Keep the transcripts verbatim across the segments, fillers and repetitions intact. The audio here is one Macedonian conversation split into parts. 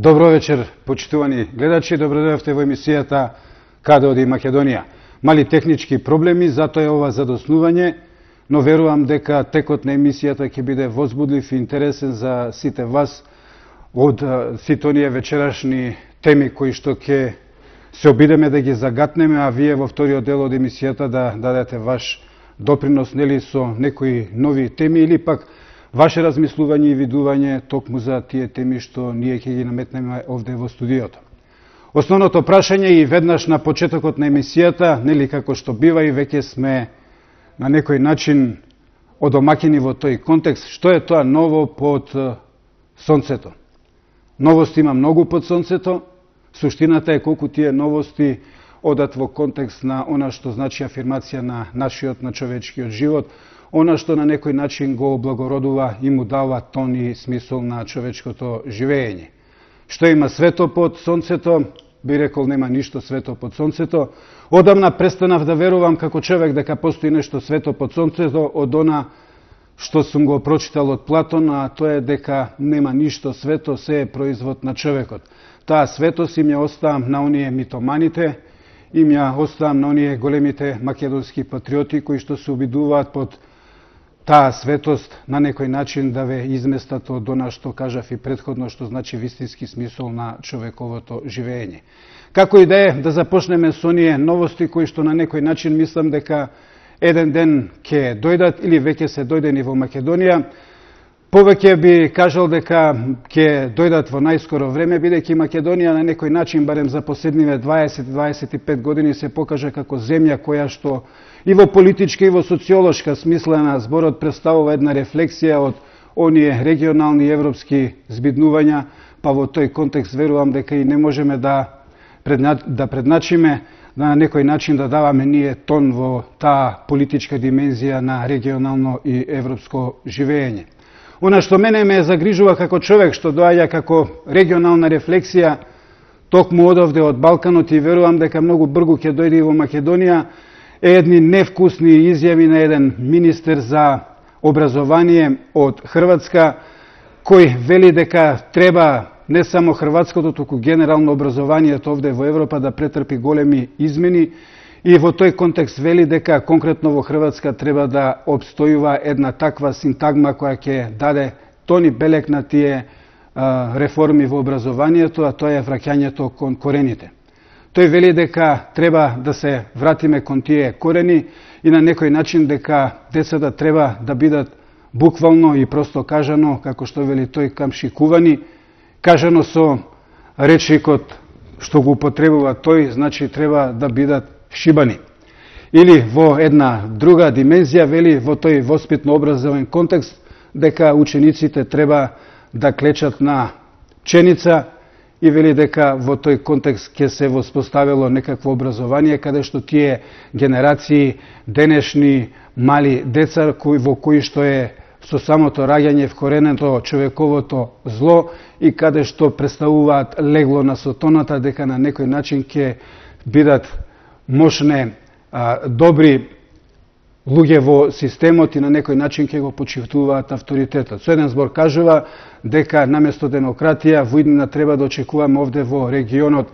Добро вечер, почитувани гледачи, добродојавте во емисијата Каде оди Македонија. Мали технички проблеми, затоа е ова задоснување, но верувам дека текот на емисијата ќе биде возбудлив и интересен за сите вас од сите оние вечерашни теми кои што ќе се обидеме да ги загатнеме, а вие во вториот дел од емисијата да дадете ваш допринос, нели, со некои нови теми или пак ваше размислување и видување токму за тие теми што ние ќе ги наметнеме овде во студиото. Основното прашање и веднаш на почетокот на емисијата, нели како што бива и веќе сме на некој начин одомакини во тој контекст, што е тоа ново под сонцето? Новости има многу под сонцето, суштината е колку тие новости одат во контекст на она што значи афирмација на нашиот, на човечкиот живот, она што на некој начин го облагородува и му дава тон и смисол на човечкото живење. Што има свето под сонцето? Би рекол, нема ништо свето под сонцето. Одамна престанав да верувам како човек дека постои нешто свето под сонцето од она што сум го прочитал од Платон, а тоа е дека нема ништо свето, се е производ на човекот. Таа светост им ја оставам на оние митоманите, им ја оставам на оние големите македонски патриоти кои што се обидуваат под таа светост на некој начин да ве изместат од она што кажав и претходно, што значи вистински смисол на човековото живење. Како и да е, да започнеме со оние новости кои што на некој начин мислам дека еден ден ќе дојдат или веќе се дојдени во Македонија. Повеќе би кажал дека ќе дојдат во најскоро време, бидејќи Македонија на некој начин, барем за последниве дваесет до дваесет и пет години, се покажа како земја која што и во политичка и во социолошка смислена зборот представува една рефлексија од оние регионални европски збиднувања, па во тој контекст верувам дека и не можеме да, предна, да предначиме, да на некој начин да даваме ние тон во таа политичка димензија на регионално и европско живење. Она што мене ме загрижува како човек што доаѓа како регионална рефлексија токму одовде од Балканот и верувам дека многу брзо ќе дојде и во Македонија, е едни невкусни изјави на еден министер за образование од Хрватска, кој вели дека треба не само хрватското, туку генерално образованието овде во Европа да претрпи големи измени и во тој контекст вели дека конкретно во Хрватска треба да обстојува една таква синтагма која ќе даде тони белек на тие а, реформи во образованието, а тоа е враќањето кон корените. Тој вели дека треба да се вратиме кон тие корени и на некој начин дека децата треба да бидат буквално и просто кажано, како што вели тој, камшикувани, кажано со речникот што го употребува тој, значи треба да бидат шибани. Или во една друга димензија вели во тој воспитно-образовен контекст дека учениците треба да клечат на пченица и вели дека во тој контекст ќе се воспоставило некакво образование каде што тие генерации денешни мали деца кои во кои што е со самото раѓање вкоренето човековото зло и каде што представуваат легло на сотоната, дека на некој начин ќе бидат мощне а, добри луѓе во системот и на некој начин ќе го почитуваат авторитетот. Со еден збор кажува дека наместо демократија во иднина треба да очекуваме овде во регионот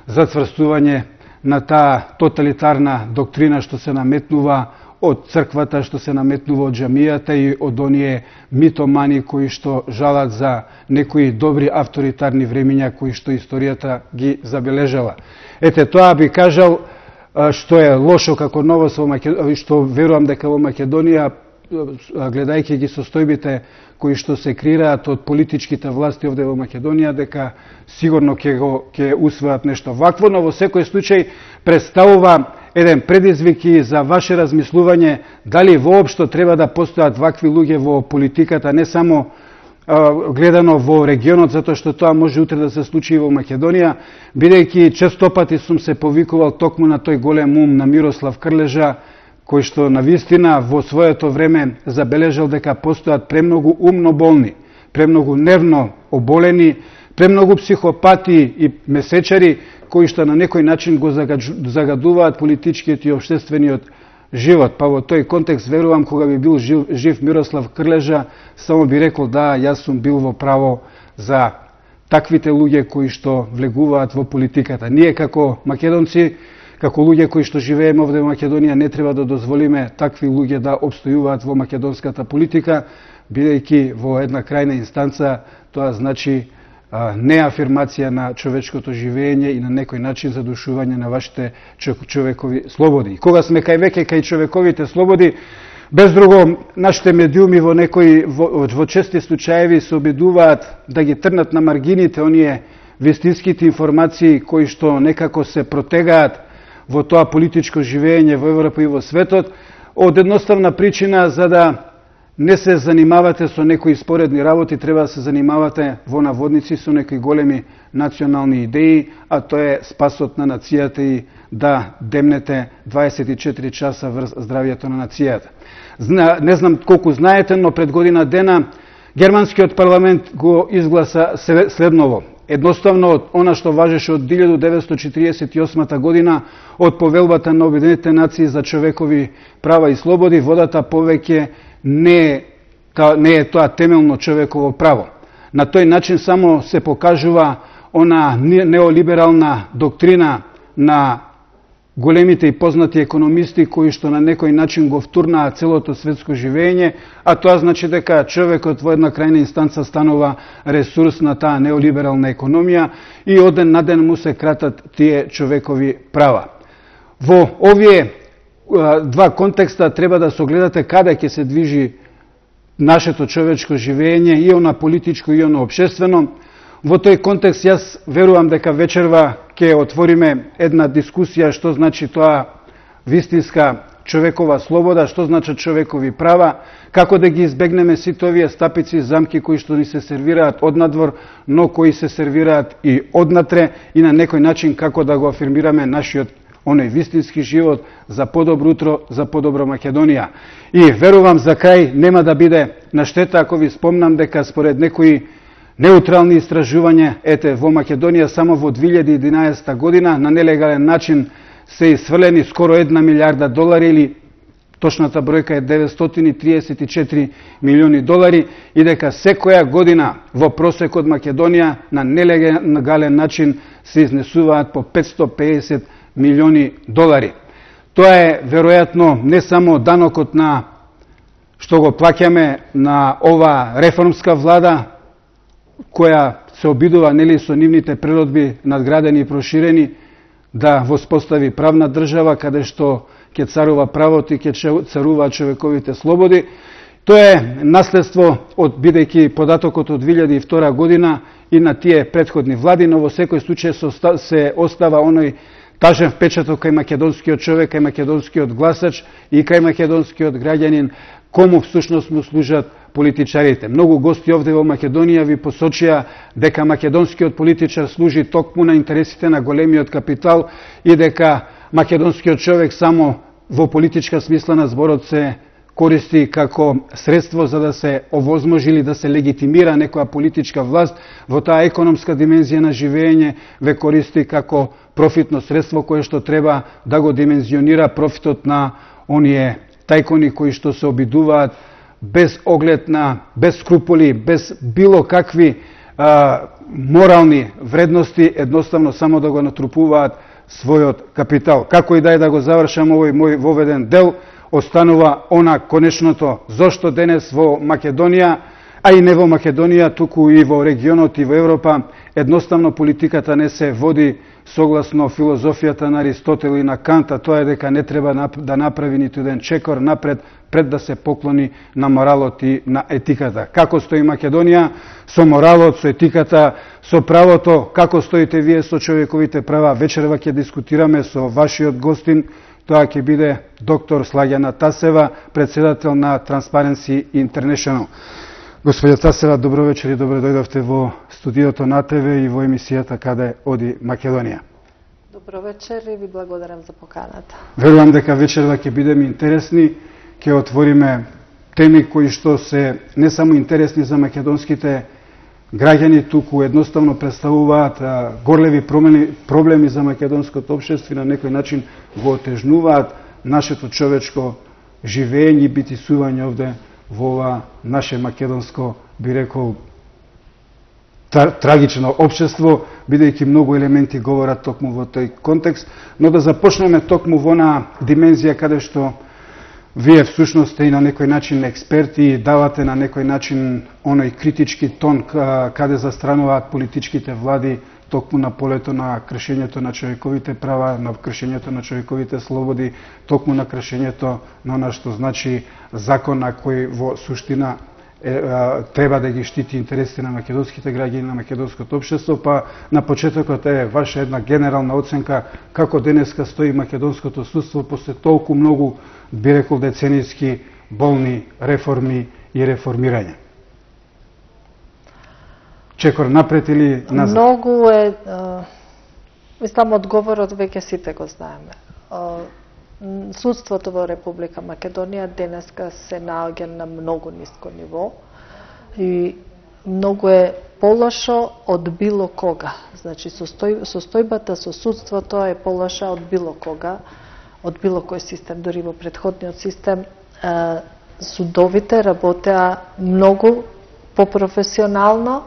зацврстување на таа тоталитарна доктрина што се наметнува од црквата, што се наметнува од џамијата и од оние митомани кои што жалат за некои добри авторитарни времиња кои што историјата ги забележала. Ете, тоа би кажал што е лошо како новост во Македонија, што верувам дека во Македонија, гледајќи ги состојбите кои што се креираат од политичките власти овде во Македонија, дека сигурно ќе го ќе усвојат нешто вакво, но во секој случај представува еден предизвик и за ваше размислување дали воопшто треба да постојат вакви луѓе во политиката, не само гледано во регионот, затоа што тоа може утре да се случи и во Македонија, бидејќи често пати сум се повикувал токму на тој голем ум на Мирослав Крлежа, кој што навистина во своето време забележал дека постојат премногу умно болни, премногу нервно оболени, премногу психопати и месечари кои што на некој начин го загадуваат политичкиот и општествениот живот. Па во тој контекст верувам кога би бил жив, жив Мирослав Крлежа, само би рекол да, јас сум бил во право за таквите луѓе кои што влегуваат во политиката. Ние како македонци, како луѓе кои што живееме овде во Македонија, не треба да дозволиме такви луѓе да обстојуваат во македонската политика, бидејќи во една крајна инстанца тоа значи а, не афирмација на човечкото живење и на некој начин задушување на вашите човекови слободи. И кога сме кај веќе кај човековите слободи, без друго, нашите медиуми во некои во, во чести случаеви се обидуваат да ги трнат на маргините оние вистинските информации кои што некако се протегаат во тоа политичко живење во Европа и во светот, од едноставна причина за да не се занимавате со некои споредни работи, треба да се занимавате во наводници со некои големи национални идеи, а тоа е спасот на нацијата и да демнете дваесет и четири часа врз здравието на нацијата. Зна, не знам колку знаете, но пред година дена германскиот парламент го изгласа следново. Едноставно од она што важеше од илјадум деветстотини четиридесет и осма година од повелбата на Обединетите нации за човекови права и слободи, водата повеќе не е, та, не е тоа темелно човеково право. На тој начин само се покажува она неолиберална доктрина на големите и познати економисти кои што на некој начин го втурнаа целото светско живење, а тоа значи дека човекот во една крајна инстанца станува ресурс на таа неолиберална економија и од ден на ден му се кратат тие човекови права. Во овие два контекста треба да согледате каде ќе се движи нашето човечко живење, и оно политичко и оно општествено. Во тој контекст јас верувам дека вечерва ќе отвориме една дискусија што значи тоа вистинска човекова слобода, што значат човекови права, како да ги избегнеме сите овие стапици и замки кои што ни се сервираат однадвор, но кои се сервираат и однатре, и на некој начин како да го афирмираме нашиот оној вистински живот за подобро утро, за подобро Македонија. И верувам за крај нема да биде на штета ако ви спомнам дека според некои неутрални истражувања, ете, во Македонија само во две илјади и единаесета година на нелегален начин се исфрлени скоро една милиарда долари, или точната бројка е деветстотини триесет и четири милиони долари, и дека секоја година во просек од Македонија на нелегален начин се изнесуваат по петстотини и педесет милиони долари. Тоа е веројатно не само данокот на што го плаќаме на ова реформска влада, која се обидува нели со нивните природби надградени и проширени да воспостави правна држава каде што ќе царува правото и ќе царуваат човековите слободи. Тоа е наследство од бидејќи податокот од две илјади и втора година и на тие претходни влади, но во секој случај се остава оној тажен впечаток кај македонскиот човек, кај македонскиот гласач и кај македонскиот граѓанин, кому всушност му служат политичарите. Многу гости овде во Македонија ви посочија дека македонскиот политичар служи токму на интересите на големиот капитал и дека македонскиот човек само во политичка смисла на зборот се користи како средство за да се овозможи или да се легитимира некоја политичка власт, во таа економска димензија на живење ве користи како профитно средство кое што треба да го димензионира профитот на оние тајкони кои што се обидуваат без оглед на, без скруполи, без било какви а, морални вредности, едноставно само да го натрупуваат својот капитал. Како и да е да го завршам овој мој воведен дел, останува она конечното зошто денес во Македонија, а и не во Македонија, туку и во регионот и во Европа, едноставно политиката не се води согласно филозофијата на Аристотел и на Канта, тоа е дека не треба да направи ниту еден чекор напред пред да се поклони на моралот и на етиката. Како стои Македонија со моралот, со етиката, со правото, како стоите вие со човековите права? Вечерва ќе дискутираме со вашиот гостин, тоа ќе биде доктор Слагјана Тасева, председател на Transparency International. Господја Тасева, добро вечер и добро дојдовте во студиото на ТВ и во емисијата Каде оди Македонија. Добро вечер и ви благодарам за поканата. Верувам дека вечерва ќе бидеме интересни, ќе отвориме теми кои што се не само интересни за македонските граѓани, туку едноставно представуваат горлеви проблеми, проблеми за македонското општество и на некој начин го отежнуваат нашето човечко живење и битисување овде во ова наше македонско, би рекол, трагично општество, бидејќи многу елементи говорат токму во тој контекст, но да започнеме токму во на димензија каде што вие всушност сте и на некој начин експерти и давате на некој начин оној критички тон каде застрануваат политичките влади токму на полето на кршењето на човековите права, на кршењето на човековите слободи, токму на кршењето на она што значи закон на кој во суштина е, е, треба да ги штити интересите на македонските граѓани, на македонското општество, па на почетокот е ваша една генерална оценка како денеска стои македонското судство после толку многу, би рекол, деценијски болни реформи и реформирање. Чекор напред или назад? Многу е, а, мислам, одговорот веќе сите го знаеме. А, судството во Република Македонија денеска се наоѓа на многу ниско ниво и многу е полошо од било кога. Значи, состој, состојбата со судството е полоша од било кога, од било кој систем. Дори во претходниот систем а, судовите работеа многу попрофесионално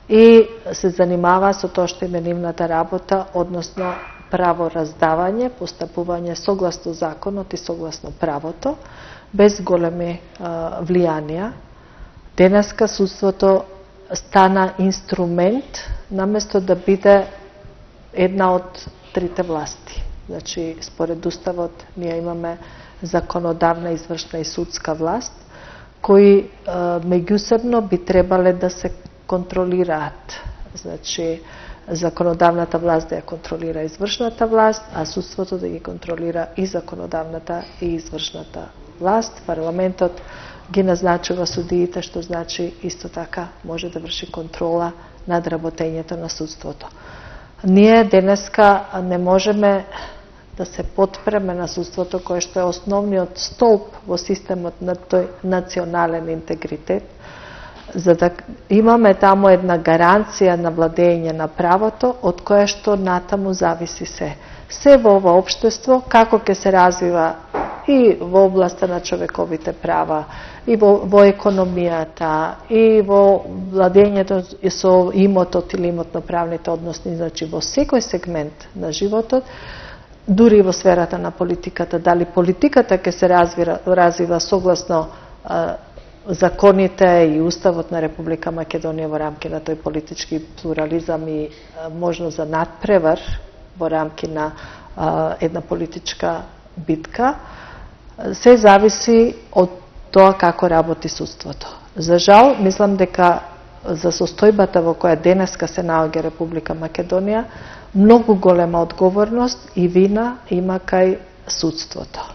и се занимава со тоа што е нивната работа, односно право раздавање, постапување согласно законот и согласно правото, без големи а, влијанија. Денеска судството стана инструмент, наместо да биде една од трите власти. Значи, според Уставот, ние имаме законодавна, извршна и судска власт, кои а, меѓусебно би требале да се контролираат. Значи, законодавната власт да ја контролира извршната власт, а судството да ги контролира и законодавната и извршната власт. Парламентот ги назначува судиите, што значи исто така може да врши контрола над работењето на судството. Ние денеска не можеме да се потпреме на судството кое што е основниот столб во системот на тој национален интегритет, за да имаме таму една гаранција на владење на правото, од кое што натаму зависи се. Се во ова општество, како ќе се развива и во областа на човековите права, и во, во економијата, и во владењето со имотот или имотно-правните односи, значи во секој сегмент на животот, дури во сферата на политиката, дали политиката ќе се развива, развива согласно а, законите и Уставот на Република Македонија во рамки на тој политички плурализам и а, можност за надпревар во рамки на а, една политичка битка, се зависи од тоа како работи судството. За жал, мислам дека за состојбата во која денеска се наоѓа Република Македонија, многу голема одговорност и вина има кај судството.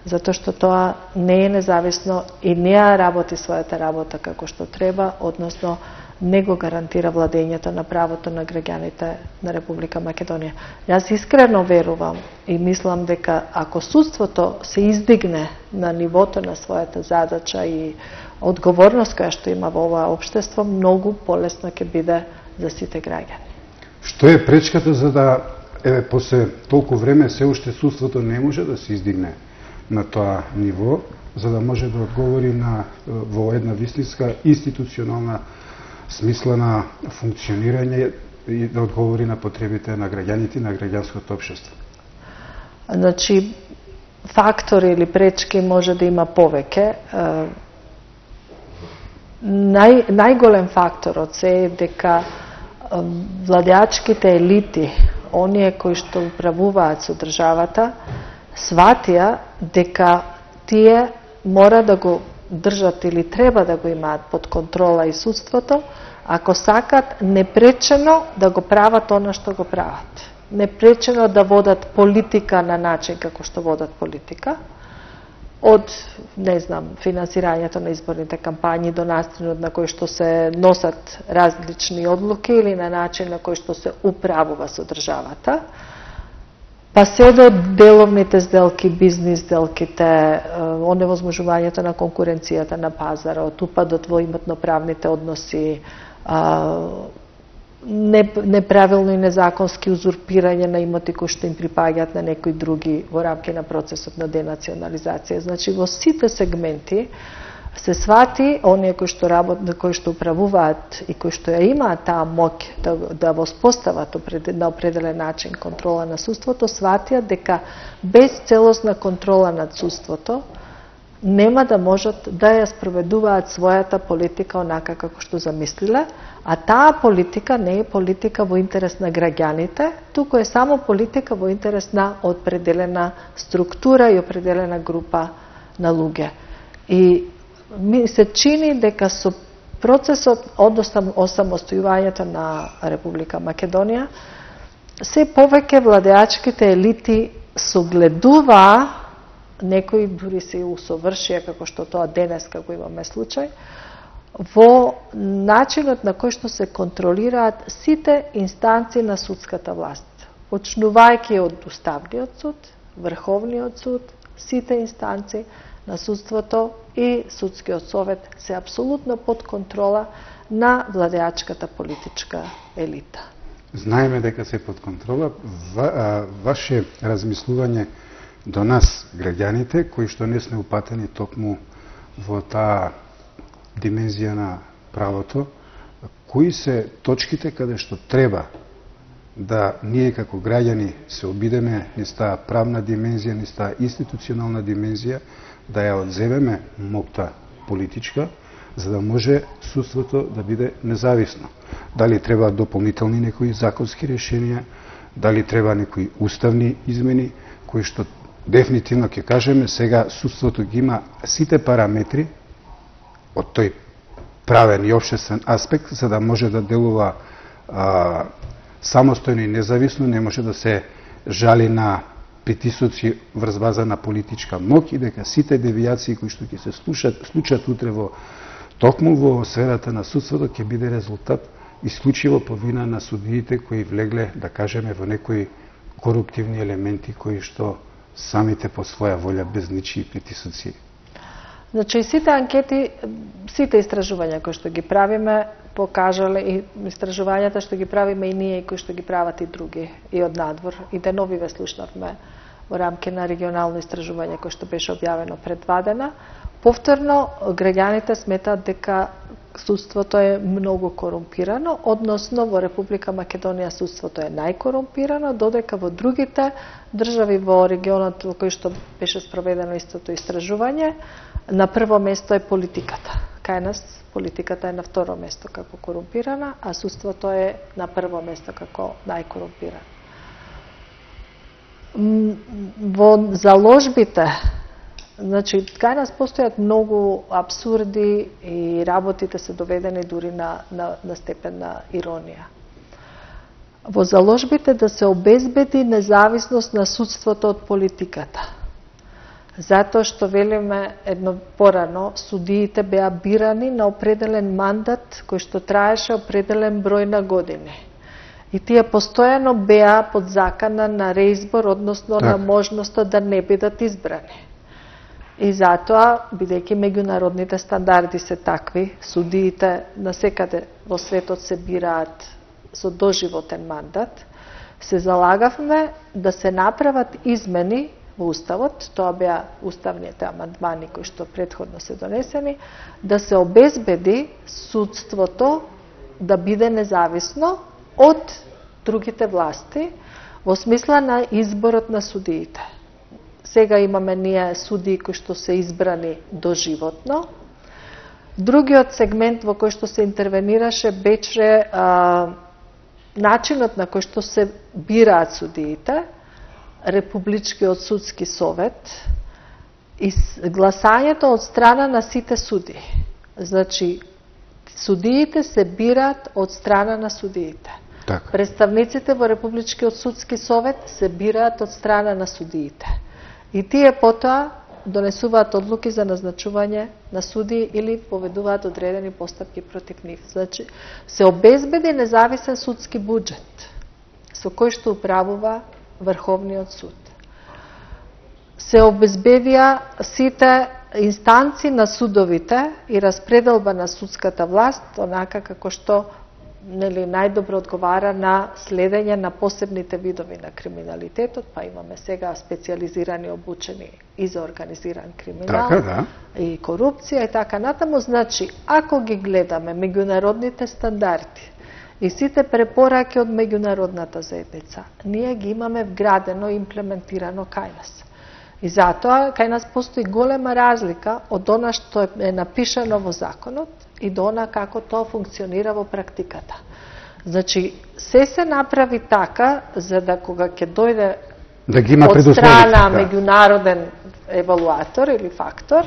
Затоа што тоа не е независно и не работи својата работа како што треба, односно не го гарантира владењето на правото на граѓаните на Република Македонија. Јас искрено верувам и мислам дека ако судството се издигне на нивото на својата задача и одговорност која што има во ова општество, многу полесно ќе биде за сите граѓани. Што е пречката за да, еве, после толку време се уште судството не може да се издигне на тоа ниво, за да може да одговори на во една вистинска институционална смислена функционирање и да одговори на потребите на граѓаните и на граѓанското општество? Значи, фактори или пречки може да има повеќе. Нај, најголем факторот се е дека владеачките елити, оние кои што управуваат со државата, сватија дека тие мора да го држат или треба да го имаат под контрола и судството, ако сакат непречено да го прават она што го прават. Непречено да водат политика на начин како што водат политика, од, не знам, финансирањето на изборните кампањи до начинот на кој што се носат различни одлуки или на начин на кој што се управува со државата, па се до деловните сделки, бизнис сделките, оневозможувањето на конкуренцијата на пазарот, упадот во имотно-правните односи, неправилно и незаконски узурпирање на имоти кои што им припаѓаат на некои други во рамки на процесот на денационализација. Значи, во сите сегменти се свати оние кои што работат, кои што управуваат и кои што ја имаат таа моќ да да воспостават на определен начин контрола на судството, сватија дека без целосна контрола над судството нема да можат да ја спроведуваат својата политика онака како што замислиле, а таа политика не е политика во интерес на граѓаните, туку е само политика во интерес на определена структура и определена група на луѓе. И ми се чини дека со процесот од осамостојувањето на Република Македонија, се повеќе владеачките елити согледуваа, некои дури се и усовршија, како што тоа денес, како имаме случај, во начинот на кој што се контролираат сите инстанции на судската власт, почнувајќи од Уставниот суд, Врховниот суд, сите инстанции на судството и Судскиот совет се апсолутно под контрола на владеачката политичка елита. Знаеме дека се под контрола. Ва, а, ваше размислување до нас, граѓаните, кои што не сме упатени токму во таа димензија на правото, кои се точките каде што треба да ние како граѓани се обидеме низ таа правна димензија, низ таа институционална димензија, да ја одземеме моќта политичка, за да може судството да биде независно. Дали треба дополнителни некои законски решенија, дали треба некои уставни измени, кои што дефинитивно ќе кажеме, сега судството ги има сите параметри од тој правен и општествен аспект, за да може да делува а, самостојно и независно, не може да се жали на притисоци врз база на политичка моќ и дека сите девијации кои што ќе се случат, случат утре во токму во сферата на судството ќе биде резултат исклучиво по вина на судиите кои влегле, да кажеме, во некои коруптивни елементи кои што самите по своја волја без ничии притисоци. Значи, сите анкети, сите истражувања кои што ги правиме, покажале и истражувањата што ги правиме и ние и кои што ги прават и други, и од надвор. И деновиве слушнавме во рамки на регионално истражување кој што беше објавено пред два дена. Повторно, граѓаните сметаат дека судството е многу корумпирано, односно во Република Македонија судството е најкорумпирано, додека во другите држави во регионот во кој што беше спроведено истото истражување, на прво место е политиката. Кај нас политиката е на второ место како корумпирана, а судството е на прво место како најкорумпирано. Во заложбите, значи, кај нас постојат многу абсурди и работите се доведени дури на, на, на степен на иронија. Во заложбите да се обезбеди независност на судството од политиката. Затоа што, велиме едно порано, судиите беа бирани на определен мандат кој што траеше определен број на години. И тие постојано беа под закана на реизбор, односно так, на можноста да не бидат избрани. И затоа, бидејќи меѓународните стандарди се такви, судиите насекаде во светот се бираат со доживотен мандат, се залагавме да се направат измени во Уставот, тоа беа уставните амандмани кои што претходно се донесени, да се обезбеди судството да биде независно од другите власти во смисла на изборот на судиите. Сега имаме ние судии кои што се избрани доживотно. Другиот сегмент во кој што се интервенираше беше а, начинот на кој што се бираат судиите, Републичкиот судски совет и гласањето од страна на сите суди. Значи, судиите се бираат од страна на судиите. Так. Представниците во Републичкиот судски совет се бираат од страна на судиите. И тие потоа донесуваат одлуки за назначување на судии или поведуваат одредени постапки против нив. Значи, се обезбеди независен судски буџет со кој што управува Врховниот суд. Се обезбедија сите инстанци на судовите и распределба на судската власт, онака како што нели најдобро одговара на следење на посебните видови на криминалитетот, па имаме сега специализирани обучени и за организиран криминал, така, да. и корупција и така натаму. Значи, ако ги гледаме меѓународните стандарди и сите препораки од меѓународната заедница, ние ги имаме вградено и имплементирано кај нас. И затоа кај нас постои голема разлика од она што е напишано во законот и до она како тоа функционира во практиката. Значи, се се направи така, за да кога ќе дојде да ги има од страна да. меѓународен евалуатор или фактор,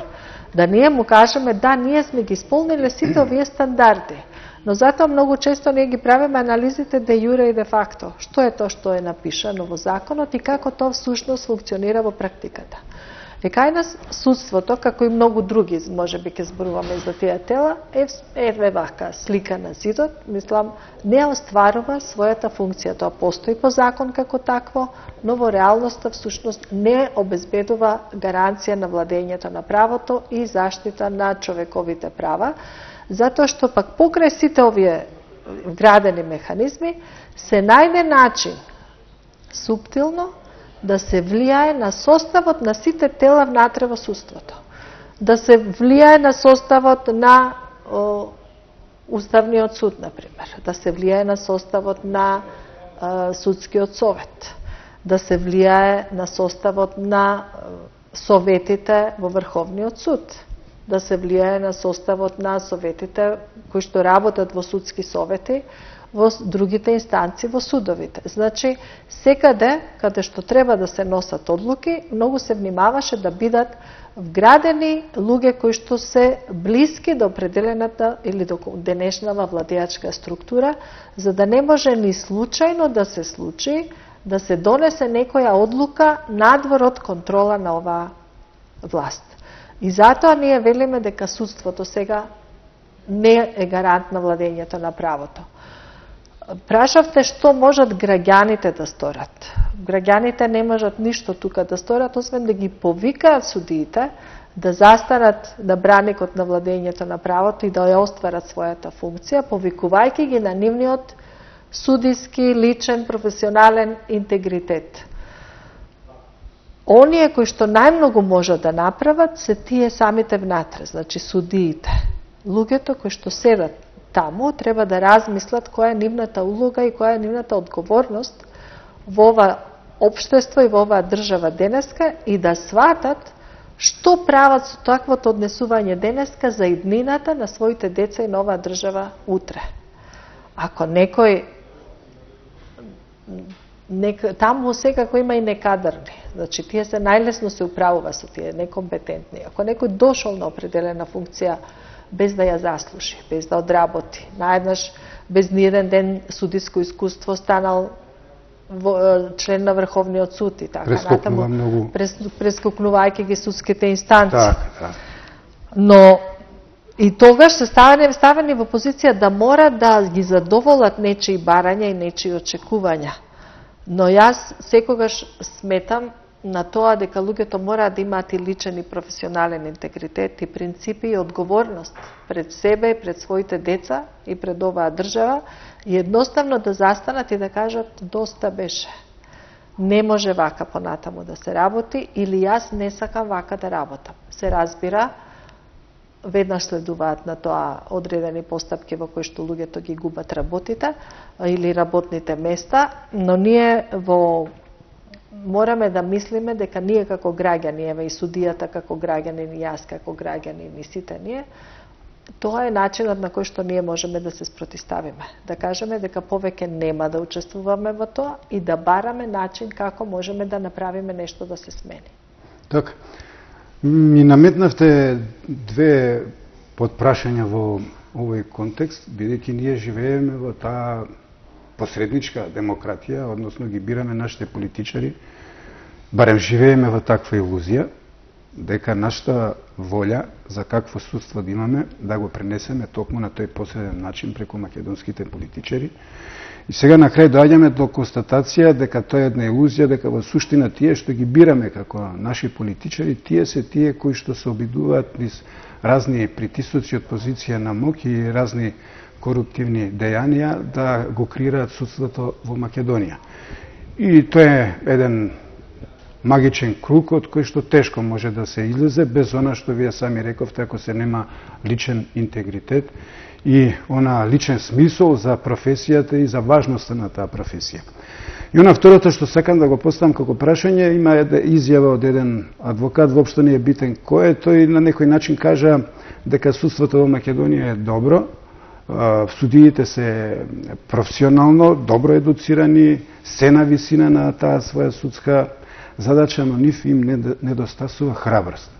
да ние му кажеме да, ние сме ги исполнили сите овие стандарди. Но затоа многу често ние ги правиме анализите де јуре и де факто. Што е тоа што е напишано во законот и како тоа всушност функционира во практиката. И кај нас судството, како и многу други, може би ќе зборуваме за тие тела, е, е вака слика на зидот, мислам, не остварува својата функција. Тоа постои по закон како такво, но во реалноста всушност не обезбедува гаранција на владењето на правото и заштита на човековите права, затоа што пак покрај сите овие вградени механизми се најде начин суптилно да се влијае на составот на сите тела внатре во судството. Да се влијае на составот на о, Уставниот суд, например. Да се влијае на составот на о, Судскиот совет. Да се влијае на составот на о, советите во Врховниот суд. Да се влијае на составот на советите кои што работат во судски совети во другите инстанции во судовите. Значи, секаде каде што треба да се носат одлуки, многу се внимаваше да бидат вградени луѓе кои што се блиски до определената или до денешнава владеачка структура, за да не може ни случајно да се случи да се донесе некоја одлука надвор од контрола на оваа власт. И затоа ние велиме дека судството сега не е гарант на владењето на правото. Прашавте што можат граѓаните да сторат. Граѓаните не можат ништо тука да сторат, освен да ги повикаат судиите да застанат на браникот на владењето на правото и да ја остварат својата функција, повикувајќи ги на нивниот судиски, личен, професионален интегритет. Оние кои што најмногу можат да направат се тие самите внатре, значи судиите. Луѓето кои што седат таму треба да размислат која е нивната улога и која е нивната одговорност во ова општество и во оваа држава денеска и да сватат што прават со таквото однесување денеска за иднината на своите деца и на оваа држава утре. Ако некој Нек, таму секако има и некадарни. Значи, тие се најлесно се управува со тие некомпетентни. Ако некој дошол на определена функција без да ја заслужи, без да одработи, наеднаш без ниеден ден судиско искуство станал во, член на Врховниот суд и така натаму, многу... прес, прескокнувајќи ги судските инстанции. Так, так. Но и тогаш се ставени, ставени во позиција да мора да ги задоволат нечии барања и нечии очекувања. Но јас секогаш сметам на тоа дека луѓето мора да имаат и личен и професионален интегритет и принципи и одговорност пред себе и пред своите деца и пред оваа држава и едноставно да застанат и да кажат доста беше. Не може вака понатаму да се работи или јас не сакам вака да работам. Се разбира, веднаш следуваат на тоа одредени постапки во кои што луѓето ги губат работите или работните места, но ние во мораме да мислиме дека ние како граѓани, еве и судијата како граѓанин и јас како граѓанин и сите ние, тоа е начинот на кој што ние можеме да се спротиставиме. Да кажеме дека повеќе нема да учествуваме во тоа и да бараме начин како можеме да направиме нешто да се смени. Така. Ми наметнавте две подпрашања во овој контекст, бидејќи ние живееме во таа посредничка демократија, односно ги бираме нашите политичари, барем живееме во таква илузија, дека нашата волја за какво судство да имаме, да го пренесеме токму на тој посреден начин преку македонските политичари. И сега на крај доаѓаме до констатација дека тоа е една илузија, дека во суштина тие што ги бираме како наши политичари, тие се тие кои што се обидуваат низ разни притисоци од позиција на моќ и разни коруптивни дејанија да го креираат судството во Македонија. И тоа е еден магичен круг од кој што тешко може да се излезе без она што вие сами рековте, ако се нема личен интегритет и она личен смисол за професијата и за важноста на таа професија. И она второто што сакам да го поставам како прашање, има една изјава од еден адвокат, воопшто не е битен кој е, тој на некој начин кажа дека судството во Македонија е добро, судиите се професионално, добро едуцирани, се на висина на таа своја судска задача, но нив им недостасува храброст.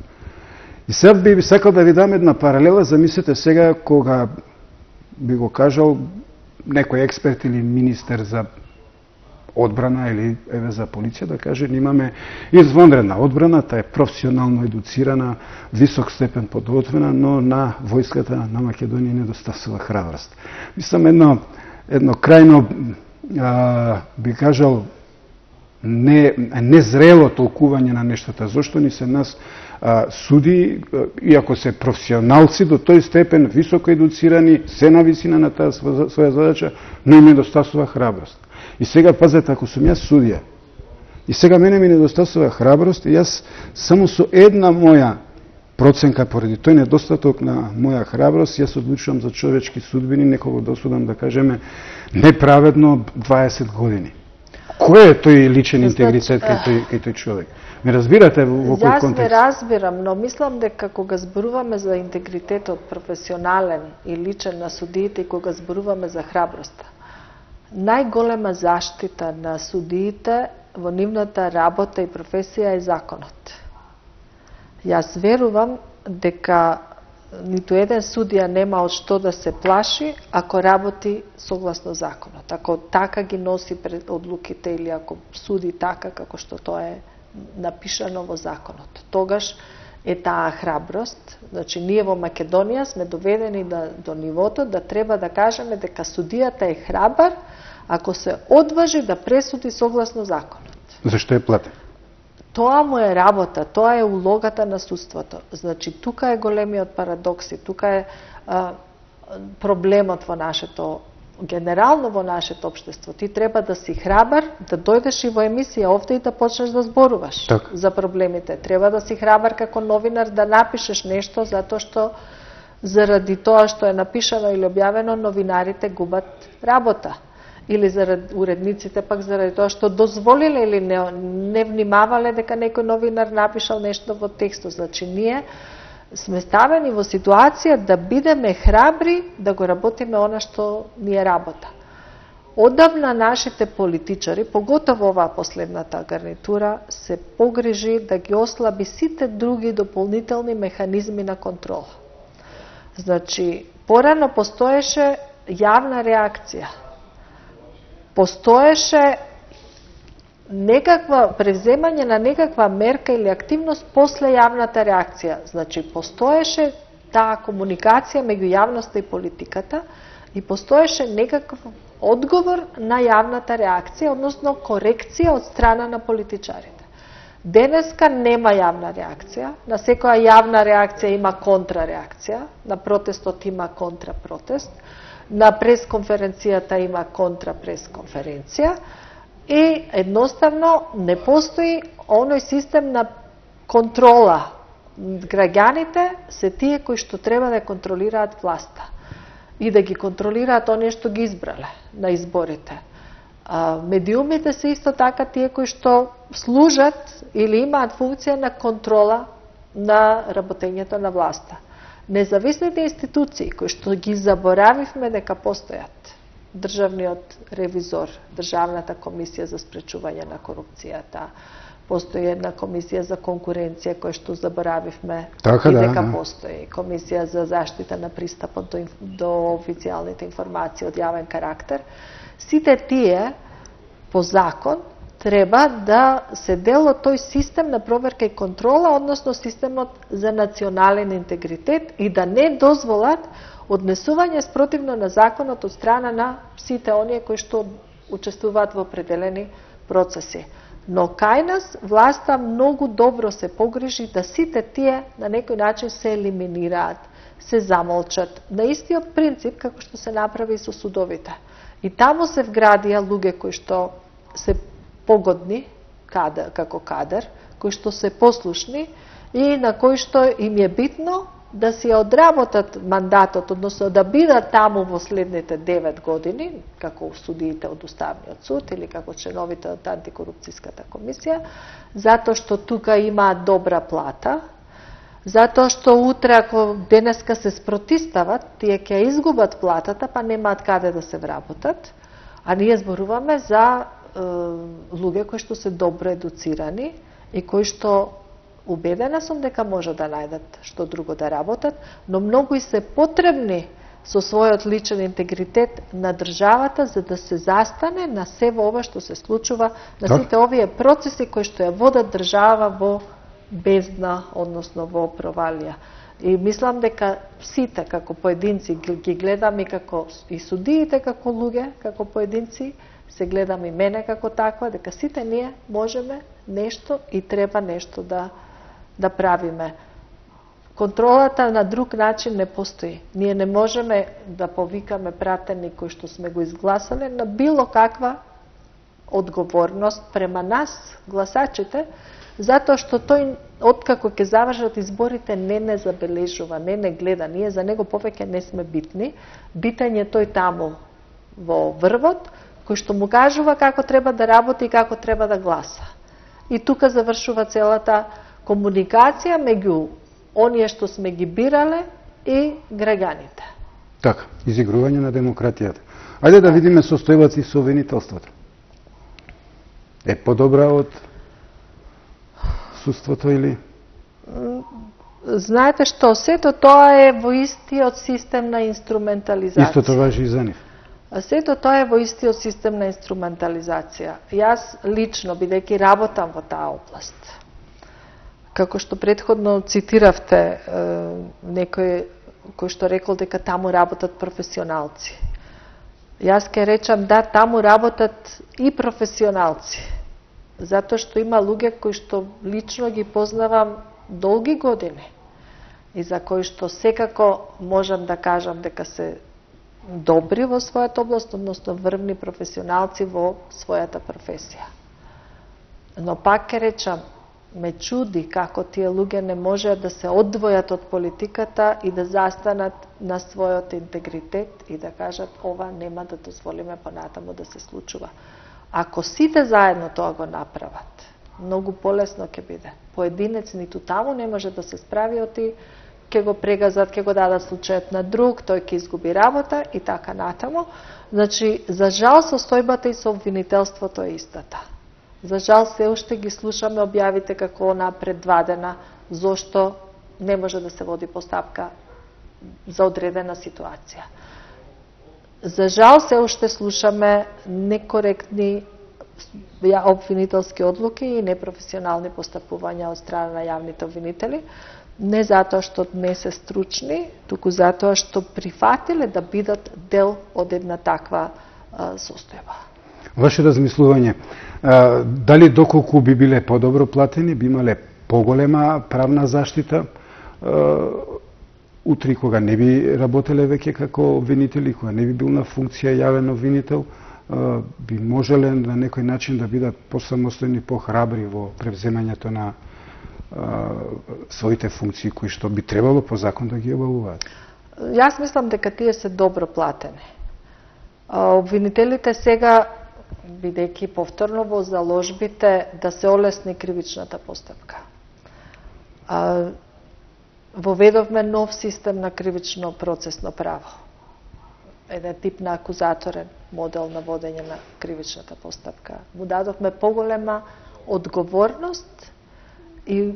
И сега би сакал да ви дам една паралела, замислете сега кога би го кажал некој експерт или министер за одбрана или еве за полиција да каже имаме извонредна одбрана, таа е професионално едуцирана, висок степен подготвена, но на војската на Македонија недостасува храброст. Мислам едно едно крајно а, би кажал не незрело толкување на нештата. Зошто ни се нас а, суди, иако се професионалци до тој степен високо едуцирани, се на висина на таа своја задача, но им недостасува храброст. И сега, пазете, ако сум јас судија, и сега мене ми недостасува храброст, и јас само со една моја проценка, поради тој недостаток на моја храброст, јас одлучувам за човечки судбини, некого досудам, да кажеме, неправедно дваесет години. Кој е тој личен интегритет кај тој, кај тој човек? Ме разбирате во, во кој контекст? Јас не разбирам, но мислам дека кога зборуваме за интегритетот професионален и личен на судиите и кога зборуваме за храброста, најголема заштита на судиите во нивната работа и професија е законот. Јас верувам дека ниту еден судија нема од што да се плаши ако работи согласно законот. Ако така ги носи пред одлуките или ако суди така како што тоа е напишано во законот. Тогаш е таа храброст. Значи, ние во Македонија сме доведени да, до нивото да треба да кажеме дека судијата е храбар ако се одважи да пресуди согласно законот. Зашто е платен? Тоа му е работа, тоа е улогата на судството. Значи, тука е големиот парадокс и тука е а, проблемот во нашето, генерално во нашето општество. Ти треба да си храбар, да дојдеш и во емисија овде и да почнеш да зборуваш так за проблемите. Треба да си храбар како новинар да напишеш нешто, затоа што заради тоа што е напишано или објавено, новинарите губат работа. Или заради уредниците пак заради тоа што дозволиле или не, не внимавале дека некој новинар напишал нешто во текстот. Значи, ние сме ставени во ситуација да бидеме храбри да го работиме она што ни е работа. Одавна нашите политичари, поготово оваа последната гарнитура, се погрижи да ги ослаби сите други дополнителни механизми на контрола. Значи, порано постоеше јавна реакција. Постоеше некаква превземање на некаква мерка или активност после јавната реакција. Значи, постоеше таа комуникација меѓу јавноста и политиката и постоеше некаков одговор на јавната реакција, односно корекција од страна на политичарите. Денеска нема јавна реакција, на секоја јавна реакција има контрареакција, на протестот има контрапротест, на пресконференцијата има контрапресконференција и едноставно не постои оној систем на контрола. Граѓаните се тие кои што треба да контролираат власта и да ги контролираат оние што ги избрале на изборите. А, медиумите се исто така тие кои што служат или имаат функција на контрола на работењето на власта. Независните институции кои што ги заборавивме дека постојат, Државниот ревизор, Државната комисија за спречување на корупцијата, постои една комисија за конкуренција која што заборавивме така, и дека да, постои, комисија за заштита на пристапот до, до официјалните информации од јавен карактер. Сите тие по закон треба да се дел од тој систем на проверка и контрола, односно системот за национален интегритет и да не дозволат однесување спротивно на законот од страна на сите оние кои што учествуваат во определени процеси. Но кај нас власта многу добро се погрижи да сите тие на некој начин се елиминираат, се замолчат. На истиот принцип како што се направи и со судовите. И таму се вградија луѓе кои што се погодни кадар, како кадар, кои што се послушни и на кои што им е битно да си одработат мандатот, односно да бидат таму во следните девет години, како судиите од Уставниот суд или како членовите од антикорупцијската комисија, затоа што тука имаат добра плата, затоа што утре, ако денеска се спротистават, тие ќе изгубат платата, па немаат каде да се вработат, а ние зборуваме за е, луѓе кои што се добро едуцирани и кои што убедена сум дека може да најдат што друго да работат, но многу и се потребни со својот личен интегритет на државата за да се застане на се ова што се случува, на сите овие процеси кои што ја водат држава во бездна, односно во провалија. И мислам дека сите како поединци ги гледам и како и судиите како луѓе, како поединци, се гледам и мене како таква, дека сите ние можеме нешто и треба нешто да да правиме. Контролата на друг начин не постои. Ние не можеме да повикаме пратени кои што сме го изгласале на било каква одговорност према нас, гласачите, затоа што тој, откако ќе завршат изборите, не не забележува, не не гледа. Ние за него повеќе не сме битни. Битен е тој таму во врвот, кој што му кажува како треба да работи и како треба да гласа. И тука завршува целата комуникација меѓу оние што сме ги бирале и граѓаните. Така, изигрување на демократијата. Ајде да видиме состојбата и со обвинителството. Е подобра од судството или? Знаете што, сето тоа е во истиот систем на инструментализација. Истото важи и за нив. Сето тоа е во истиот систем на инструментализација. Јас лично, бидејќи работам во таа област, како што претходно цитиравте е, некој кој што рекол дека таму работат професионалци. Јас ке речам да, таму работат и професионалци. Затоа што има луѓе кои што лично ги познавам долги години и за кои што секако можам да кажам дека се добри во својата област, односно врвни професионалци во својата професија. Но пак ке речам, ме чуди како тие луѓе не можеат да се одвојат од политиката и да застанат на својот интегритет и да кажат ова нема да дозволиме понатаму да се случува. Ако сите заедно тоа го направат, многу полесно ќе биде. Поединец ниту таму не може да се справи, оти ќе го прегазат, ќе го дадат случајот на друг, тој ќе изгуби работа и така натаму. Значи, за жал состојбата и со обвинителството е истата. За жал се уште ги слушаме објавите како она пред два дена, зошто не може да се води постапка за одредена ситуација. За жал се уште слушаме некоректни обвинителски одлуки и непрофесионални постапувања од страна на јавните обвинители, не затоа што не се стручни, туку затоа што прифатиле да бидат дел од една таква а, состојба. Ваше размислување, а, дали доколку би биле подобро платени, би имале поголема правна заштита, а, утре кога не би работеле веќе како обвинители, кога не би бил на функција јавен обвинител, а, би можеле на некој начин да бидат посамостојни, похрабри во превземањето на а, своите функции кои што би требало по закон да ги обавуваат. Јас мислам дека тие се добро платени. А, обвинителите сега, бидејќи повторно во заложбите да се олесни кривичната постапка. А, воведовме нов систем на кривично процесно право. Еден тип на акузаторен модел на водење на кривичната постапка. Му дадовме поголема одговорност и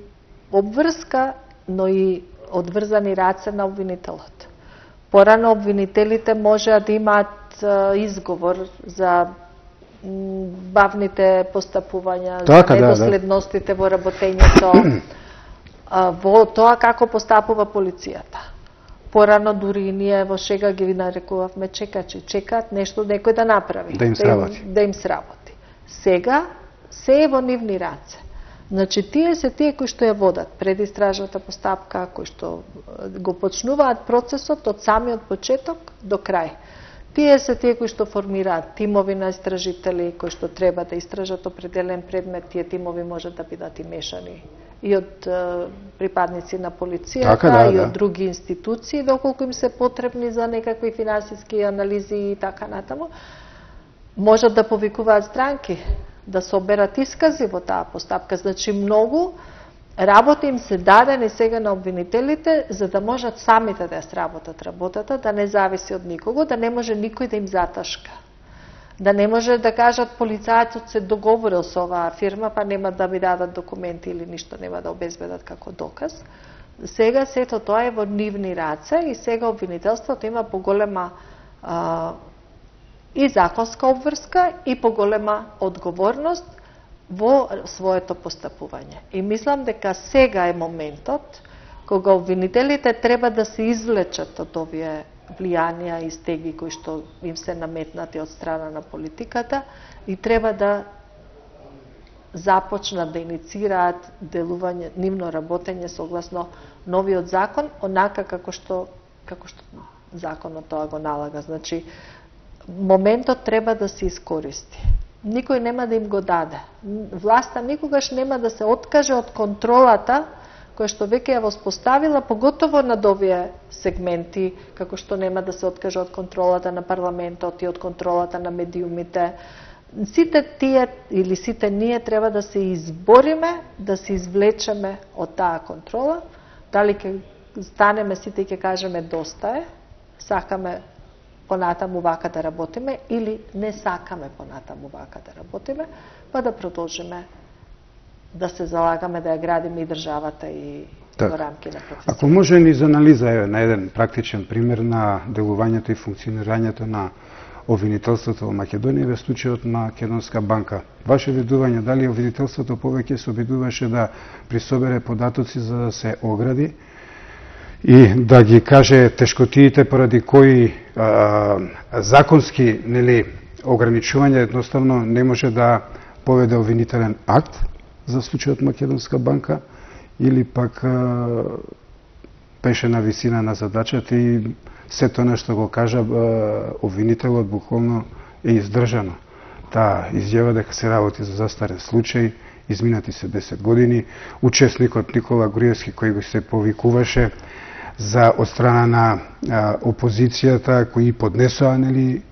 обврска, но и одврзани раце на обвинителот. Порано обвинителите можеа да имаат изговор за бавните постапувања, Така, за да, недоследностите да. во работењето, во тоа како постапува полицијата. Порано дури и ние во шега ги нарекувавме чекачи, чекаат нешто некој да направи, да им сработи. Да им, да им сработи. Сега се е во нивни раце. Значи, тие се тие кои што ја водат предистражната постапка, кои што го почнуваат процесот од самиот почеток до крај. Тие се тие кои што формираат тимови на истражители, кои што треба да истражат определен предмет, тие тимови можат да бидат и мешани и од е, припадници на полицијата, така, да, и да. од други институции, доколку им се потребни за некакви финансиски анализи и така натаму. Можат да повикуваат странки, да соберат искази во таа постапка. Значи, многу работа им се дадени сега на обвинителите, за да можат самите да ја сработат работата, да не зависи од никого, да не може никој да им заташка. Да не може да кажат полицајецот се договорил со оваа фирма, па нема да ми дадат документи или ништо нема да обезбедат како доказ. Сега сето тоа е во нивни раце и сега обвинителството има поголема а, и законска обврска и поголема одговорност во своето постапување. И мислам дека сега е моментот кога обвинителите треба да се извлечат од овие влијанија и стеги кои што им се наметнати од страна на политиката и треба да започнат да иницираат делување, нивно работење согласно новиот закон, онака како што како што законот тоа го налага. Значи, моментот треба да се искористи. Никој нема да им го даде. Власта никогаш нема да се откаже од контролата која што веќе ја воспоставила, поготово над овие сегменти, како што нема да се откаже од контролата на парламентот и од контролата на медиумите. Сите тие или сите ние треба да се избориме, да се извлечеме од таа контрола. Дали ќе станеме сите и ќе кажеме доста е, сакаме понатаму вака да работиме или не сакаме понатаму вака да работиме, па да продолжиме да се залагаме да ја градиме и државата и так. во рамки на процесот. Ако може ни за анализа е на еден практичен пример на делувањето и функционирањето на обвинителството во Македонија во случајот Македонска банка. Ваше видување, дали обвинителството повеќе се обидуваше да присобере податоци за да се огради и да ги каже тешкотиите поради кои а, законски, нели, ограничување едноставно не може да поведе обвинителен акт за случајот Македонска банка, или пак а, беше на висина на задачата и сето нешто го кажа а, обвинителот буквално е издржано. Таа изјава дека се работи за застарен случај, изминати се десет години, учесникот Никола Груевски кој го се повикуваше за од страна на а, опозицијата кои поднесоа, нели,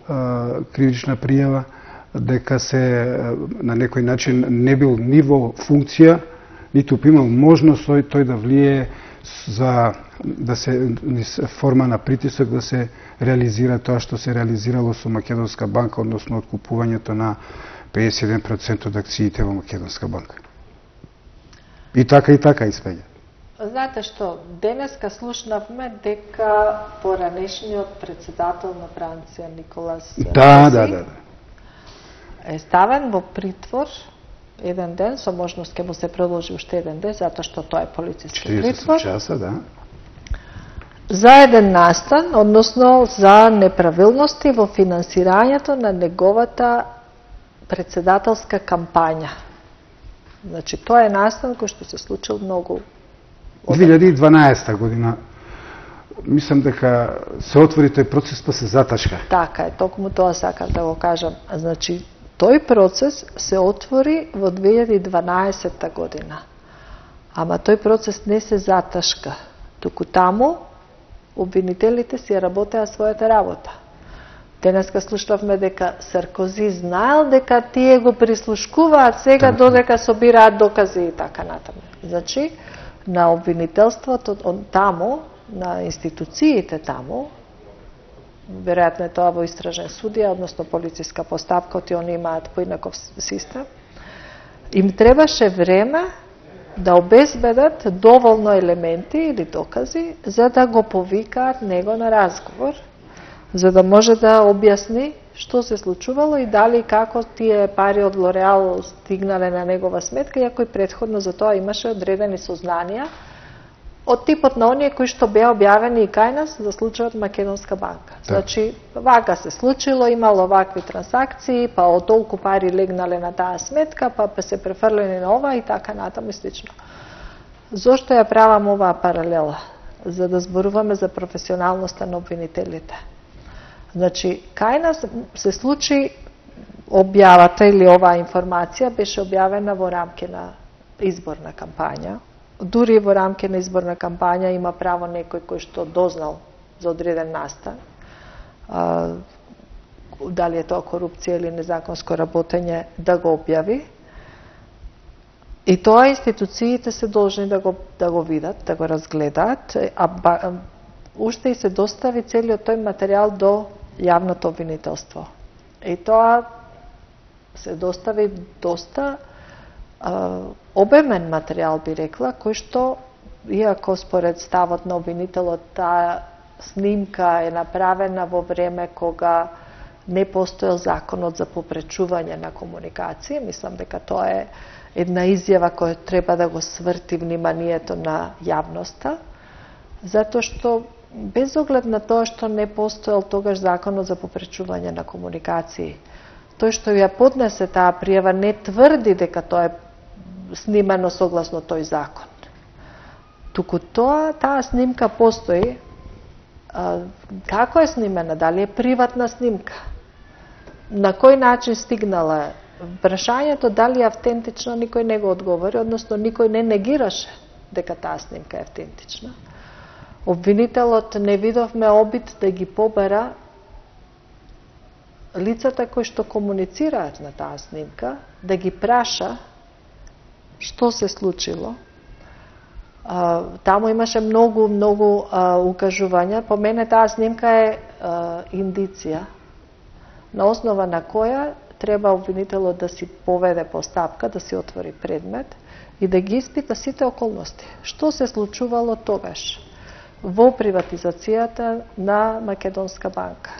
а, кривична пријава дека се на некој начин не бил ниво функција, ниту имал можност тој, тој да влие за да се форма на притисок да се реализира тоа што се реализирало со Македонска банка, односно откупувањето на педесет и еден проценти од акциите во Македонска банка. И така и така испеѓа. Знаете што, денеска слушнавме дека поранешниот председател на Франција Николас Да, да, да. е ставен во притвор еден ден, со можност ќе му се продолжи уште еден ден, затоа што тоа е полициски притвор. четириесет часа, да. За еден настан, односно за неправилности во финансирањето на неговата председателска кампања. Значи, тоа е настан кој што се случил многу две илјади и дванаесета година. Мислам дека се отвори тој процес па се заташка. Така е, токму тоа сакам да го кажам. Значи, тој процес се отвори во две илјади и дванаесета година. Ама тој процес не се заташка. Туку таму обвинителите си работеа својата работа. Денеска слушнавме дека Саркози знаел дека тие го прислушкуваат сега додека собираат докази и така натаму. Значи, на обвинителството таму, на институциите таму, веројатно е тоа во истражен судија, односно полициска постапка, оти они имаат поинаков систем, им требаше време да обезбедат доволно елементи или докази за да го повикаат него на разговор, за да може да објасни што се случувало и дали како тие пари од Лореал стигнале на негова сметка, иако и претходно за тоа имаше одредени сознанија од типот на оние кои што беа објавени и кај нас за случајот Македонска банка. Значи, вака се случило, имало вакви трансакции, па од толку пари легнале на таа сметка, па се префрлени на ова и така натаму и слично. Зошто ја правам оваа паралела? За да зборуваме за професионалноста на обвинителите. Значи, кај нас се случи објавата или оваа информација беше објавена во рамки на изборна кампања. Дури во рамки на изборна кампања има право некој кој што дознал за одреден настан, а, дали е тоа корупција или незаконско работење, да го објави. И тоа институциите се должни да го, да го видат, да го разгледаат, а ба, уште и се достави целиот тој материјал до јавното обвинителство. И тоа се достави доста а, обемен материјал, би рекла, кој што, иако според ставот на обвинителот, таа снимка е направена во време кога не постоел законот за попречување на комуникација, мислам дека тоа е една изјава која треба да го сврти вниманието на јавноста, затоа што без оглед на тоа што не постоел тогаш законот за попречување на комуникации, тој што ја поднесе таа пријава не тврди дека тоа е снимано согласно тој закон. Туку тоа, таа снимка постои. А, како е снимена? Дали е приватна снимка? На кој начин стигнала? Прашањето дали е автентично никој не го одговори, односно никој не негираше дека таа снимка е автентична. Обвинителот не видовме обид да ги побера лицата кои што комуницираат на таа снимка, да ги праша што се случило. А, таму имаше многу, многу а, укажувања. По мене таа снимка е а, индиција, на основа на која треба обвинителот да си поведе постапка, да си отвори предмет и да ги испита сите околности. Што се случувало тогаш во приватизацијата на Македонска банка?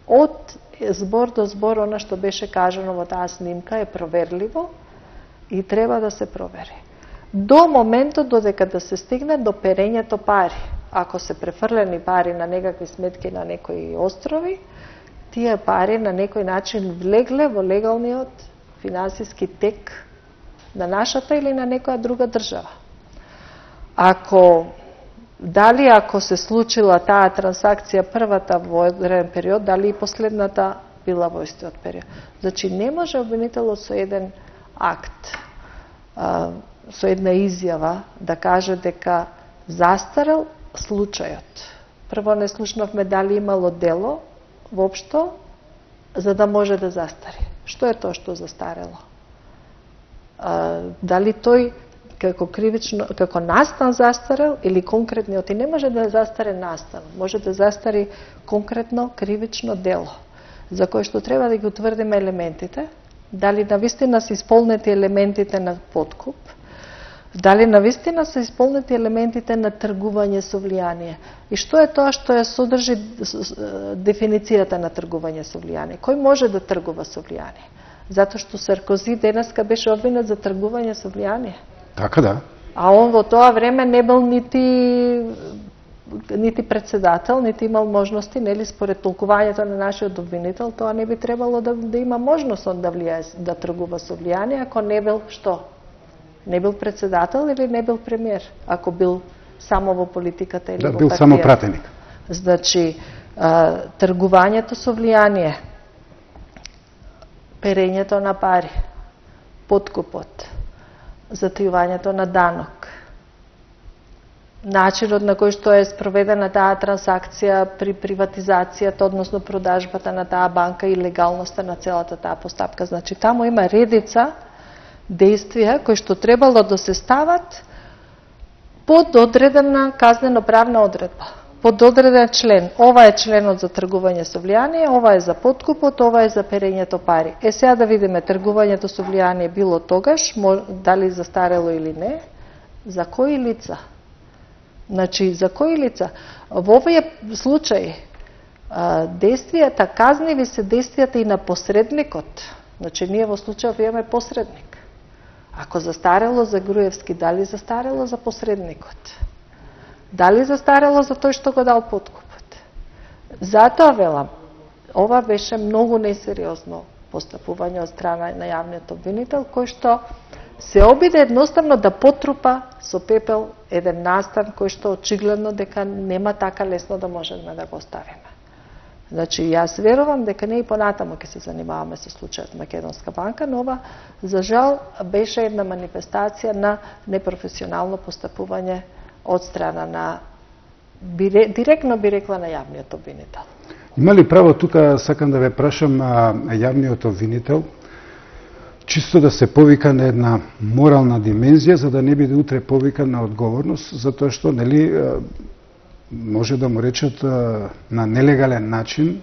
Од збор до збор, она што беше кажано во таа снимка е проверливо и треба да се провери. До моментот додека да се стигне до перењето пари. Ако се префрлени пари на некакви сметки на некои острови, тие пари на некој начин влегле во легалниот финансиски тек на нашата или на некоја друга држава. Ако дали ако се случила таа трансакција првата во одреден период, дали и последната била во истиот период. Значи не може обвинителот со еден акт, а, со една изјава да каже дека застарел случајот. Прво не слушнавме дали имало дело воопшто за да може да застари. Што е тоа што застарело? А, дали тој како кривично, како настан застарел или конкретниот, и не може да застаре настан, може да застари конкретно кривично дело, за кое што треба да ги утврдиме елементите, дали навистина се исполнети елементите на подкуп, дали навистина се исполнети елементите на тргување со влијание. И што е тоа што ја содржи дефиницијата на тргување со влијание? Кој може да тргува со влијание? Затоа што Саркози денеска беше обвинет за тргување со влијание. Така да. А он во тоа време не бил нити нити председател, нити имал можности, нели според толкувањето на нашиот обвинител, тоа не би требало да, да има можност он да влијае, да тргува со влијание, ако не бил што? Не бил председател или не бил премиер, ако бил само во политиката или да, во бил партијата. само пратеник. Значи, а, тргувањето со влијание, перењето на пари, подкупот, затајувањето на данок, начинот на кој што е спроведена таа трансакција при приватизацијата, односно продажбата на таа банка и легалноста на целата таа постапка. Значи, таму има редица действија кои што требало да се стават под одредена казнено-правна одредба, под одреден член. Ова е членот за тргување со влијание, ова е за подкупот, ова е за перењето пари. Е, сега да видиме тргувањето со влијание било тогаш, дали застарело или не, за кои лица? Значи, за кои лица? Во овие случаи, действијата, казниви се действијата и на посредникот. Значи, ние во случајот имаме посредник. Ако застарело за Груевски, дали застарело за посредникот? Дали застарело за тој што го дал подкупот? Затоа велам, ова беше многу несериозно постапување од страна на јавниот обвинител, кој што се обиде едноставно да потрупа со пепел еден настан кој што очигледно дека нема така лесно да можеме да го оставиме. Значи, јас верувам дека не и понатаму ќе се занимаваме со случајот Македонска банка, но ова, за жал, беше една манифестација на непрофесионално постапување од страна на, директно би рекла, на јавниот обвинител. Има ли право, тука сакам да ве прашам, јавниот обвинител, чисто да се повика на една морална димензија, за да не биде утре повикан на одговорност, затоа што, нели, може да му речат на нелегален начин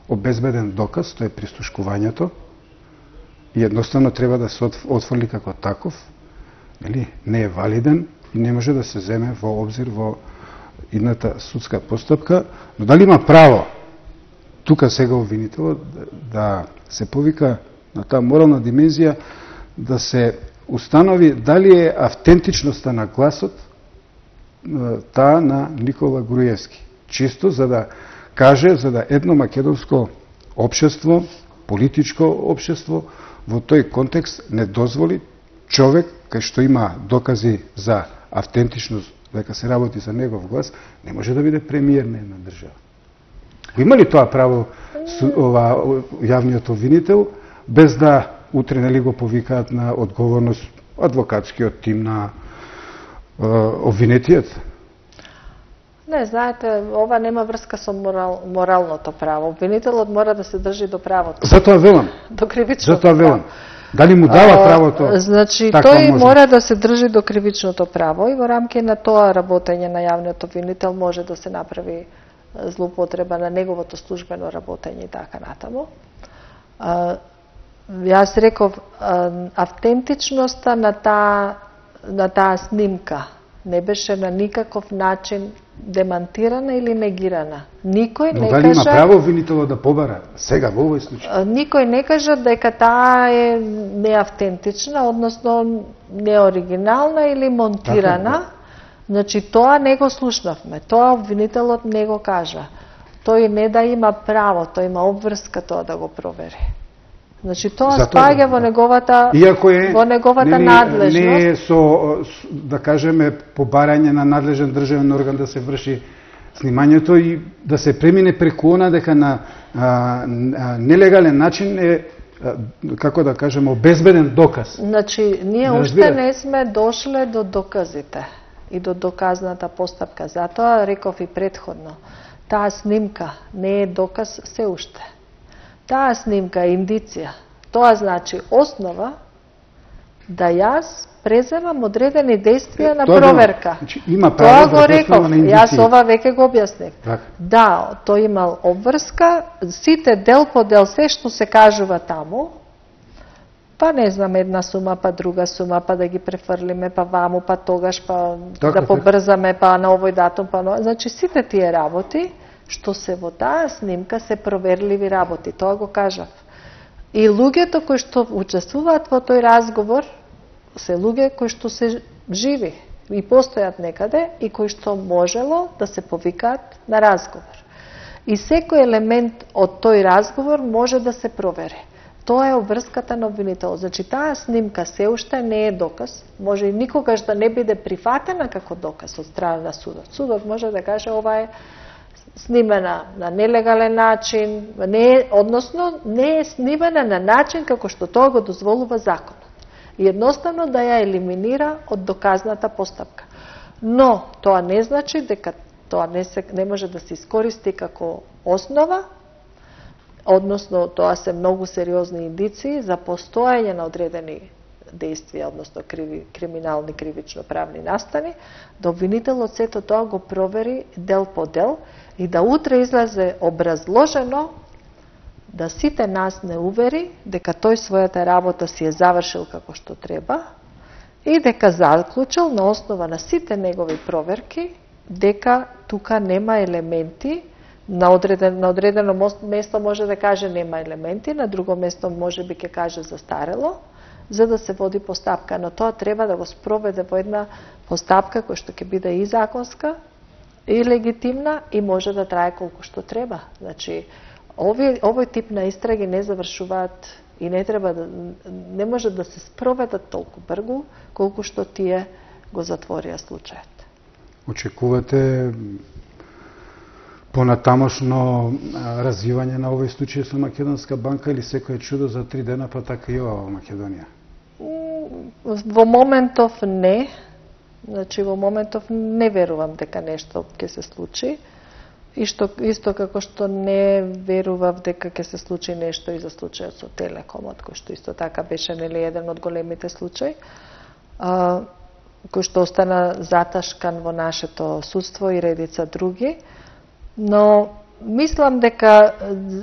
обезбеден доказ, тоа е прислушкувањето, и едноставно треба да се отфрли како таков, нели, не е валиден и не може да се земе во обзир во идната судска постапка, но дали има право тука сега обвинителот да се повика на таа морална димензија, да се установи дали е автентичноста на гласот таа на Никола Груевски. Чисто за да каже, за да едно македонско општество, политичко општество, во тој контекст не дозволи човек кај што има докази за автентичност, дека се работи за негов глас, не може да биде премиер на една држава. Има ли тоа право ова јавниот обвинител, без да утре нели го повикаат на одговорност адвокатскиот тим на е, обвинетиот? Не, знаете, ова нема врска со морал, моралното право. Обвинителот мора да се држи до правото. Затоа велам. До кривичното Затоа велам. Дали му дава правото? А, значи, така тој може? мора да се држи до кривичното право и во рамки на тоа работење на јавниот обвинител може да се направи злоупотреба на неговото службено работење и така натаму. А, јас реков, а, автентичноста на таа на таа снимка не беше на никаков начин демантирана или негирана. Никој Но не дали кажа... има право обвинителот да побара сега во овој случај? Никој не кажа дека таа е неавтентична, односно неоригинална или монтирана. Така, Значи, тоа не го слушнавме. Тоа обвинителот не го кажа. Тој не да има право, тој има обврска тоа да го провери. Значи, тоа Затоа, спаѓа во неговата, Иако е, во неговата нели, надлежност. не е со, да кажеме, побарање на надлежен државен орган да се врши снимањето и да се премине преку она дека на а, а, нелегален начин е, а, како да кажеме, обезбеден доказ. Значи, ние Да уште разбирате? не сме дошле до доказите и до доказната постапка. Затоа реков и предходно, таа снимка не е доказ се уште. Таа снимка е индиција. Тоа значи основа да јас преземам одредени действија на Тоа проверка. Значи, има Тоа право го да реков, на јас индиција. ова веќе го објаснив. Так. Да, тој имал обврска, сите дел по дел, се што се кажува таму, па не знам, една сума, па друга сума, па да ги префрлиме, па ваму, па тогаш, па Така, да побрзаме, па на овој датум, па на... Значи, сите тие работи, што се во таа снимка, се проверливи работи. Тоа го кажав. И луѓето кои што учествуваат во тој разговор, се луѓе кои што се живи и постојат некаде и кои што можело да се повикаат на разговор. И секој елемент од тој разговор може да се провери. Тоа е обврската на обвинителот. Значи, таа снимка се уште не е доказ, може и никогаш да не биде прифатена како доказ од страна на судот. Судот може да каже ова е снимена на нелегален начин, не е, односно не е снимена на начин како што тоа го дозволува законот. И едноставно да ја елиминира од доказната постапка. Но тоа не значи дека тоа не, се, не може да се искористи како основа, односно тоа се многу сериозни индиции за постоење на одредени действија, односно криви, криминални кривично-правни настани, да обвинителот сето тоа го провери дел по дел и да утре излезе образложено да сите нас не увери дека тој својата работа си е завршил како што треба и дека заклучил на основа на сите негови проверки дека тука нема елементи, на одредено, на одредено место може да каже нема елементи, на друго место може би ќе каже застарело, за да се води постапка, но тоа треба да го спроведе во една постапка која што ќе биде и законска, и легитимна и може да трае колку што треба. Значи, овој, овој тип на истраги не завршуваат и не треба да не може да се спроведат толку брзо колку што тие го затворија случајот. Очекувате понатамошно развивање на овој случај со Македонска банка или секој чудо за три дена па така и ова во Македонија? Во моментов не. Значи, во моментов не верувам дека нешто ќе се случи. И што, исто како што не верував дека ќе се случи нешто и за случајот со Телекомот, кој што исто така беше нели еден од големите случаи, а, кој што остана заташкан во нашето судство и редица други. Но мислам дека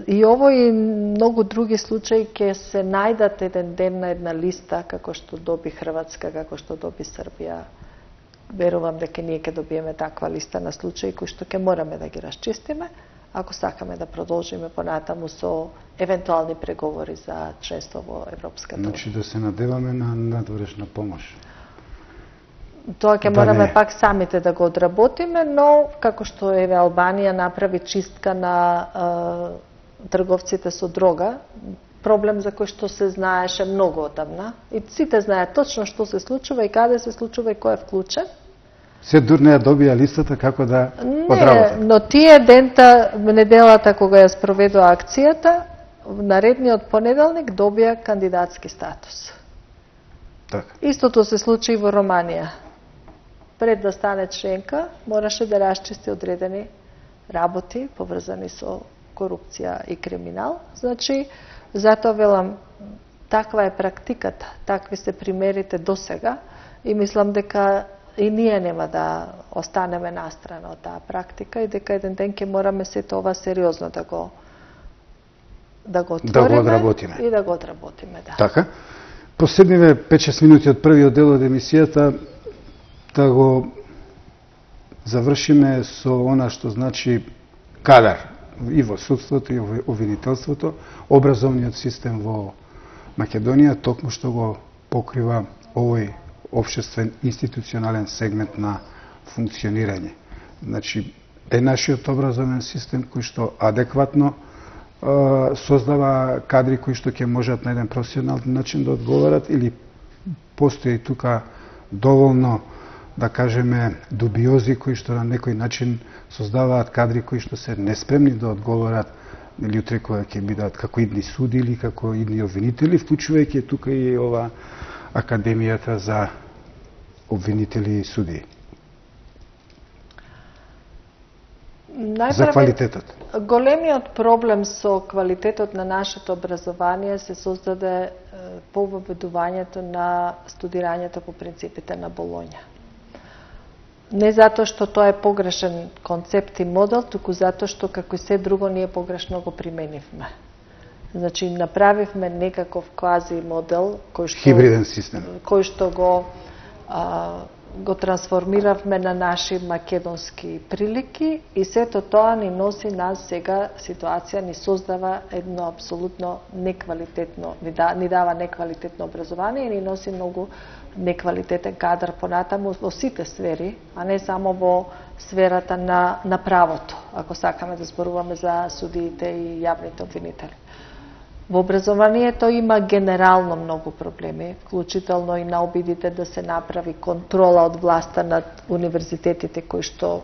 и овој и многу други случаи ќе се најдат еден ден на една листа, како што доби Хрватска, како што доби Србија. Верувам дека ние ќе добиеме таква листа на случаи кои што ќе мораме да ги расчистиме, ако сакаме да продолжиме понатаму со евентуални преговори за членство во Европската унија. Значи да се надеваме на надворешна помош. Тоа ќе да мораме не. пак самите да го одработиме, но како што еве Албанија направи чистка на е, трговците со дрога, проблем за кој што се знаеше многу одамна и сите знаат точно што се случува и каде се случува и кој е вклучен. Се дур не ја добија листата како да не, одработат. Но тие дента, неделата кога ја спроведува акцијата, наредниот понеделник добија кандидатски статус. Така. Истото се случи и во Романија. Пред да стане членка, мораше да расчисти одредени работи поврзани со корупција и криминал. Значи, затоа велам, таква е практиката, такви се примерите до сега и мислам дека и ние нема да останеме настрана од таа практика и дека еден ден ќе мораме се тоа сериозно да го да го отвориме да го одработиме. И да го одработиме, да. Така. Последниве пет-шест минути од првиот дел од емисијата да го завршиме со она што значи кадар и во судството и во обвинителството, образовниот систем во Македонија, токму што го покрива овој општествен институционален сегмент на функционирање. Значи, е нашиот образовен систем кој што адекватно е, создава кадри кои што ќе можат на еден професионален начин да одговорат или постои тука доволно, да кажеме, дубиози кои што на некој начин создаваат кадри кои што се неспремни да одговорат или утре кога ќе бидат како идни суди или како идни обвинители, вклучувајќи тука и ова Академијата за обвинители и суди. Најпрвен, за квалитетот. Големиот проблем со квалитетот на нашето образование се создаде по воведувањето на студирањето по принципите на Болоња. Не затоа што тоа е погрешен концепт и модел, туку затоа што како и се друго ние погрешно го применивме. Значи направивме некаков квази модел кој што хибриден систем, кој што го а, го трансформиравме на наши македонски прилики и сето тоа ни носи нас сега ситуација, ни создава едно апсолутно неквалитетно, ни, да, ни дава неквалитетно образование и ни носи многу неквалитетен кадар понатаму во сите сфери, а не само во сферата на, на правото, ако сакаме да зборуваме за судиите и јавните обвинители. Во образованието има генерално многу проблеми, вклучително и на обидите да се направи контрола од власта над универзитетите кои што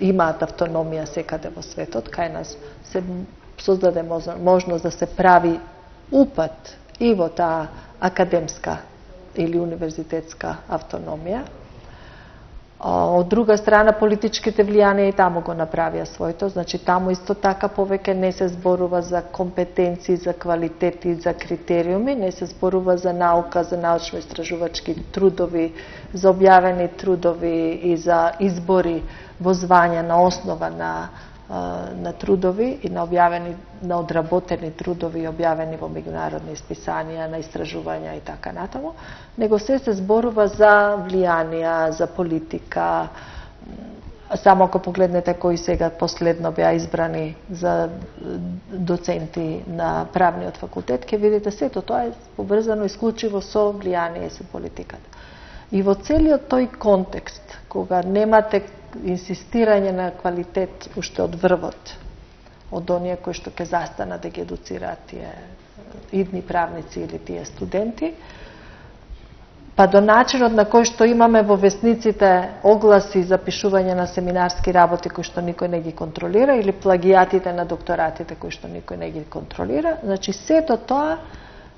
имаат автономија секаде во светот. Кај нас се создаде можност да се прави упат и во таа академска или универзитетска автономија. Од друга страна, политичките влијанија и таму го направија своето, значи таму исто така повеќе не се зборува за компетенции, за квалитети, за критериуми, не се зборува за наука, за научно-истражувачки трудови, за објавени трудови и за избори во звања на основа на на трудови и на објавени, на одработени трудови и објавени во меѓународни списанија, на истражувања и така натаму, него се се зборува за влијанија, за политика, Само ако погледнете кои сега последно беа избрани за доценти на правниот факултет, ќе видите сето тоа е поврзано исклучиво со влијание со политиката. И во целиот тој контекст, кога немате инсистирање на квалитет уште од врвот, од оние кои што ќе застанат да ги едуцираат тие идни правници или тие студенти, па до начинот на кој што имаме во весниците огласи за пишување на семинарски работи кои што никој не ги контролира или плагијатите на докторатите кои што никој не ги контролира, значи сето тоа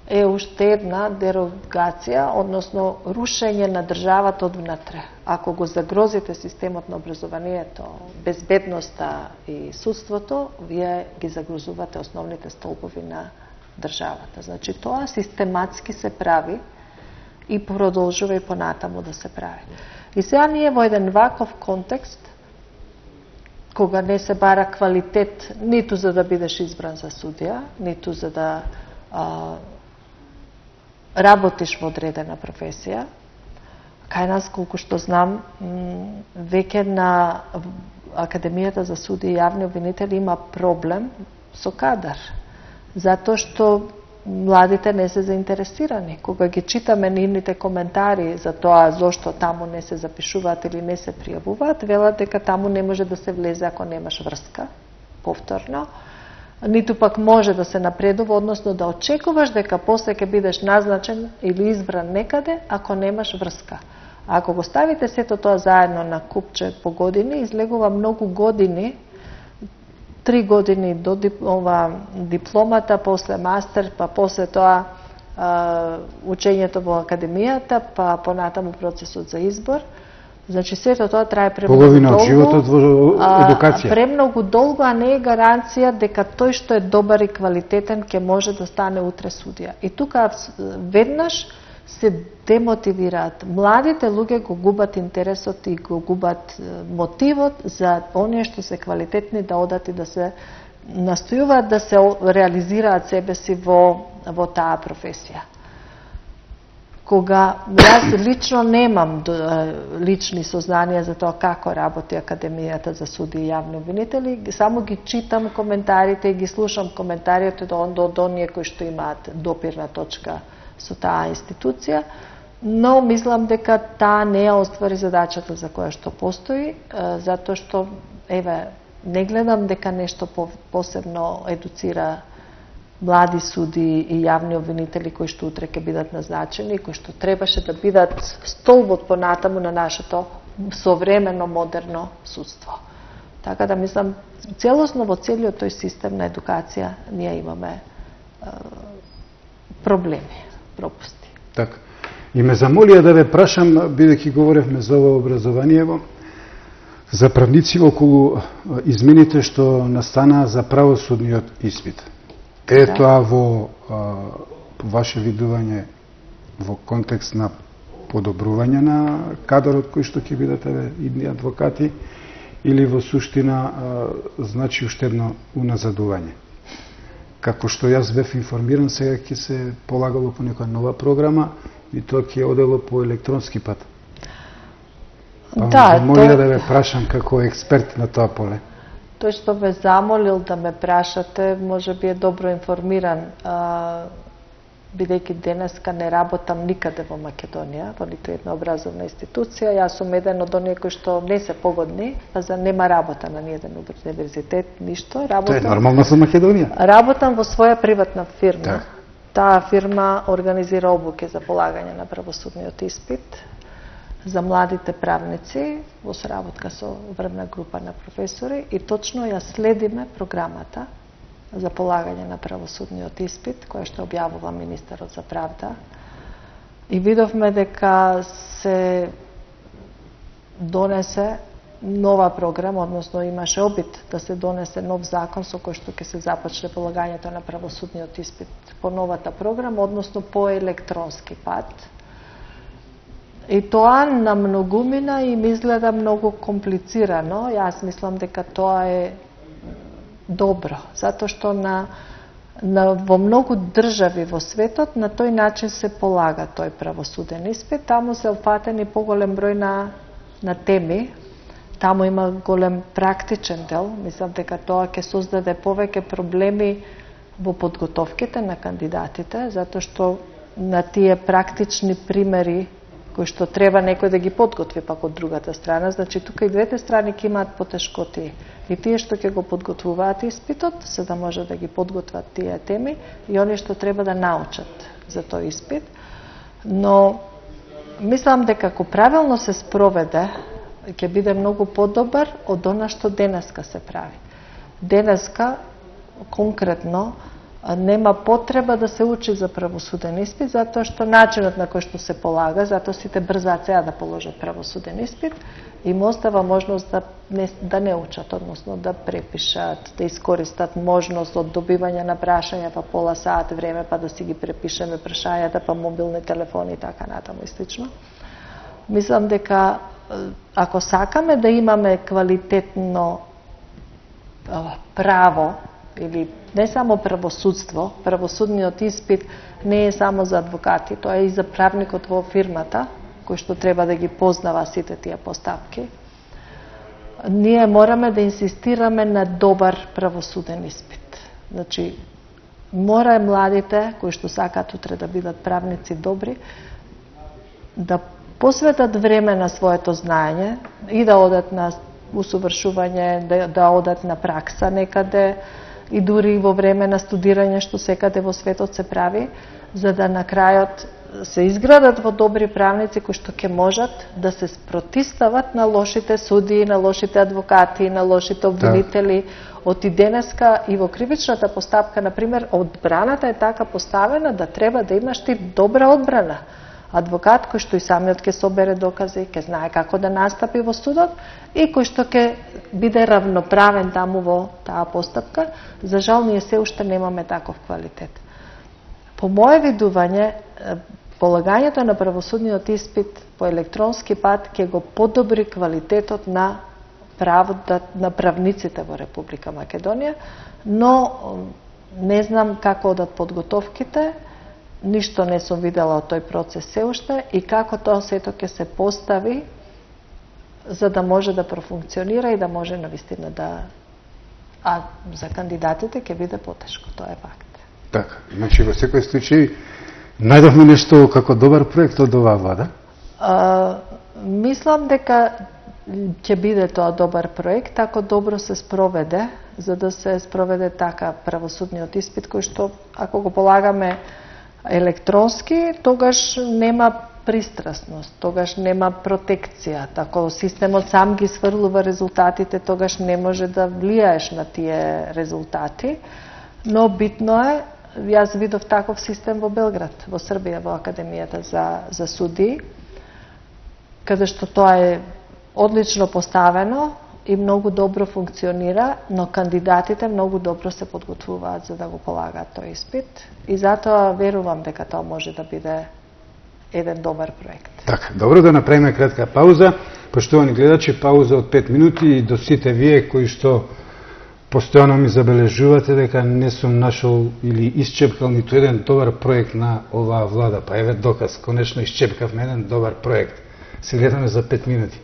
е уште една дерогација, односно рушење на државата од внатре. Ако го загрозите системот на образованието, безбедноста и судството, вие ги загрозувате основните столбови на државата. Значи тоа систематски се прави и продолжува и понатаму да се прави. И сега ние во еден ваков контекст, кога не се бара квалитет ниту за да бидеш избран за судија, ниту за да а, работиш во одредена професија, кај нас, колку што знам, веќе на Академијата за суди и јавни обвинители има проблем со кадар, затоа што младите не се заинтересирани. Кога ги читаме нивните коментари за тоа зошто таму не се запишуваат или не се пријавуваат, велат дека таму не може да се влезе ако немаш врска, повторно, ниту пак може да се напредува, односно да очекуваш дека после ќе бидеш назначен или избран некаде ако немаш врска. А ако го ставите сето тоа заедно на купче по години, излегува многу години, три години до дип, ова, дипломата, после мастер, па после тоа а, учењето во академијата, па понатаму процесот за избор. Значи сето тоа трае премногу половина долго. Половина од животот во едукација. А, премногу долго, а не е гаранција дека тој што е добар и квалитетен ќе може да стане утре судија. И тука веднаш се демотивираат. Младите луѓе го губат интересот и го губат мотивот за оние што се квалитетни да одат и да се настојуваат да се реализираат себе си во, во таа професија. Кога јас лично немам лични сознанија за тоа како работи Академијата за суди и јавни обвинители, само ги читам коментарите и ги слушам коментарите од оние кои што имаат допирна точка со таа институција, но мислам дека таа не ја оствари задачата за која што постои, затоа што, еве, не гледам дека нешто посебно едуцира млади суди и јавни обвинители кои што утре ќе бидат назначени и кои што требаше да бидат столбот понатаму на нашето современо модерно судство. Така да мислам, целосно во целиот тој систем на едукација ние имаме е, проблеми, пропусти. Така. И ме замолија да ве прашам, бидејќи говоревме за ова образованиево, за правници околу измените што настанаа за правосудниот испит. Е да. Тоа во а, ваше видување во контекст на подобрување на кадарот кој што ќе бидат идни адвокати или во суштина а, значи уште едно уназадување? Како што јас бев информиран, сега ќе се полагало по некоја нова програма и тоа ќе одело по електронски пат. Па да, молија тоа... да ве прашам како експерт на тоа поле. Тој што ме замолил да ме прашате, може би е добро информиран, бидејќи денеска не работам никаде во Македонија, во ниту една образовна институција. Јас сум еден од оние кои што не се погодни, па за нема работа на ниеден универзитет, ништо. Работам, тоа е нормално за Македонија. Работам во своја приватна фирма. Да. Таа фирма организира обуки за полагање на правосудниот испит за младите правници во соработка со врвна група на професори и точно ја следиме програмата за полагање на правосудниот испит, која што објавува министерот за правда. И видовме дека се донесе нова програма, односно имаше обид да се донесе нов закон со кој што ќе се започне полагањето на правосудниот испит по новата програма, односно по електронски пат. И тоа на многумина им изгледа многу комплицирано. Јас мислам дека тоа е добро, затоа што на, на, во многу држави во светот на тој начин се полага тој правосуден испит. Таму се опфатени поголем број на, на теми таму има голем практичен дел. Мислам дека тоа ќе создаде повеќе проблеми во подготовките на кандидатите, затоа што на тие практични примери кои што треба некој да ги подготви пак од другата страна, значи тука и двете страни ќе имаат потешкоти. И тие што ќе го подготвуваат испитот, за да може да ги подготват тие теми, и они што треба да научат за тој испит. Но мислам дека ако правилно се спроведе, ќе биде многу подобар од она што денеска се прави. Денеска конкретно нема потреба да се учи за правосуден испит, затоа што начинот на кој што се полага, затоа сите брзаат сега да положат правосуден испит, им остава можност да не, да не учат, односно да препишат, да искористат можност од добивање на прашања па пола сат време, па да си ги препишеме прашањата, па мобилни телефони и така натаму и слично. Мислам дека ако сакаме да имаме квалитетно право, или не само правосудство, правосудниот испит не е само за адвокати, тоа е и за правникот во фирмата, кој што треба да ги познава сите тие постапки. Ние мораме да инсистираме на добар правосуден испит. Значи, мора младите, кои што сакаат утре да бидат правници добри, да посветат време на своето знаење и да одат на усовршување, да, да одат на пракса некаде, и дури во време на студирање што секаде во светот се прави, за да на крајот се изградат во добри правници кои што ќе можат да се спротистават на лошите судии, на лошите адвокати, на лошите обвинители. Од и денеска и во кривичната постапка, например, одбраната е така поставена да треба да имаш ти добра одбрана. Адвокат кој што и самиот ќе собере докази, ќе знае како да настапи во судот и кој што ќе биде равноправен таму во таа постапка. За жал, ние се уште немаме таков квалитет. По мое видување, полагањето на правосудниот испит по електронски пат ќе го подобри квалитетот на правото на правниците во Република Македонија, но не знам како одат подготовките. Ништо не сум видела од тој процес се уште и како тоа сето ќе се постави за да може да профункционира и да може навистина да... А за кандидатите ќе биде потешко, тоа е факт. Така, значи во секој случај најдовме нешто како добар проект од оваа влада? А, мислам дека ќе биде тоа добар проект ако добро се спроведе, за да се спроведе така правосудниот испит кој што ако го полагаме електронски, тогаш нема пристрасност, тогаш нема протекција. Ако системот сам ги сврлува резултатите, тогаш не може да влијаеш на тие резултати. Но битно е, јас видов таков систем во Белград, во Србија, во Академијата за, за судии, каде што тоа е одлично поставено и многу добро функционира, но кандидатите многу добро се подготвуваат за да го полагаат тој испит и затоа верувам дека тоа може да биде еден добар проект. Така, добро, да направиме кратка пауза. Поштовани гледачи, пауза од пет минути и до сите вие кои што постојано ми забележувате дека не сум нашол или исчепкал ниту еден добар проект на оваа влада. Па еве доказ, конечно исчепкавме еден добар проект. Се гледаме за пет минути.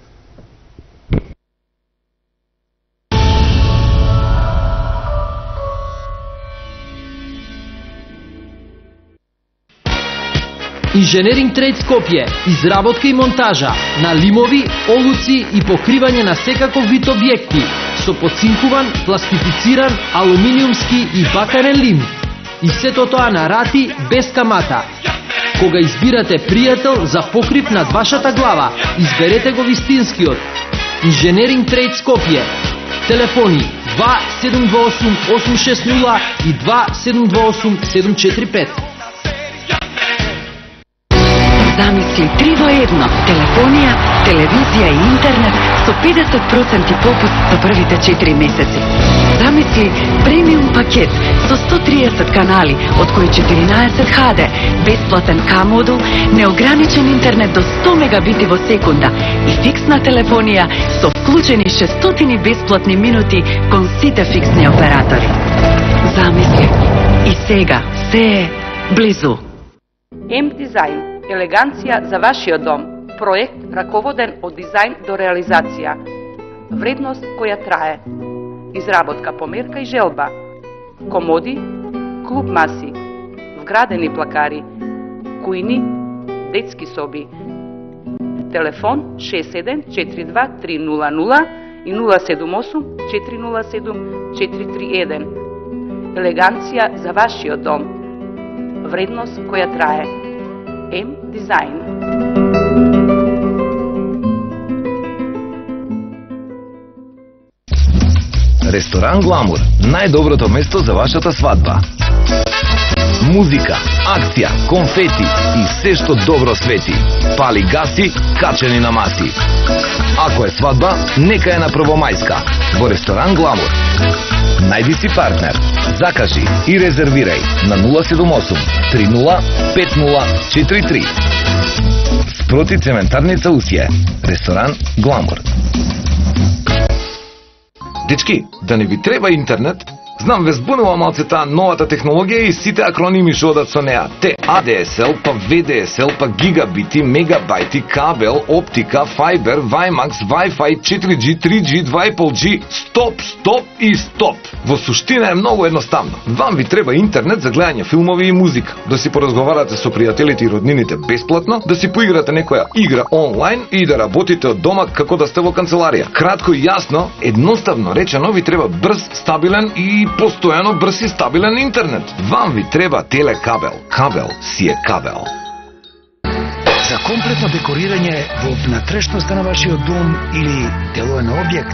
Инженеринг Трейд Скопје, изработка и монтажа на лимови, олуци и покривање на секаков вид објекти со поцинкуван, пластифициран, алуминиумски и бакарен лим. И сето тоа на рати без камата. Кога избирате пријател за покрив над вашата глава, изберете го вистинскиот. Инженеринг Трейд Скопје. Телефони два седум два осум осум шест нула и два седум два осум седум четири пет. Замисли три во едно, телефонија, телевизија и интернет со педесет проценти попуст за првите четири месеци. Замисли премиум пакет со сто триесет канали, од кои четиринаесет Х Д, бесплатен К-модул, неограничен интернет до сто мегабити во секунда и фиксна телефонија со вклучени шестстотини бесплатни минути кон сите фиксни оператори. Замисли. И сега се е близу. Емп Дизајн. Елеганција за вашиот дом. Проект раководен од дизајн до реализација. Вредност која трае. Изработка по мерка и желба. Комоди, клуб маси, вградени плакари, кујни, детски соби. Телефон шест седум четири два три нула нула и нула седум осум четири нула седум четири три еден. Елеганција за вашиот дом. Вредност која трае. М Дизајн. Ресторан Гламур, најдоброто место за вашата свадба. Музика, акција, конфети и се што добро свети. Пали гаси, качени на маси. Ако е свадба, нека е на Првомајска, во Ресторан Гламур. Најди си партнер, закажи и резервирај на нула седум осум три нула пет нула четири три. Спроти цементарница Усје. Ресторан Гламур. Дечки, да не ви треба интернет? Знам, ве збунува малце таа новата технологија и сите акроними што одат со неа. Те А Д С Л, па В Д С Л, па гигабити, мегабајти, кабел, оптика, фајбер, Вајмакс, Wi-Fi, четири G, три G, два и пол G. Стоп, стоп и стоп! Во суштина е многу едноставно. Вам ви треба интернет за гледање филмови и музика, да си поразговарате со пријателите и роднините бесплатно, да си поиграте некоја игра онлайн и да работите од дома како да сте во канцеларија. Кратко и јасно, едноставно речено, ви треба брз, стабилен и постојано брз и стабилен интернет. Вам ви треба телекабел. Кабел си е кабел. За комплетно декорирање во внатрешноста на вашиот дом или делоен објект,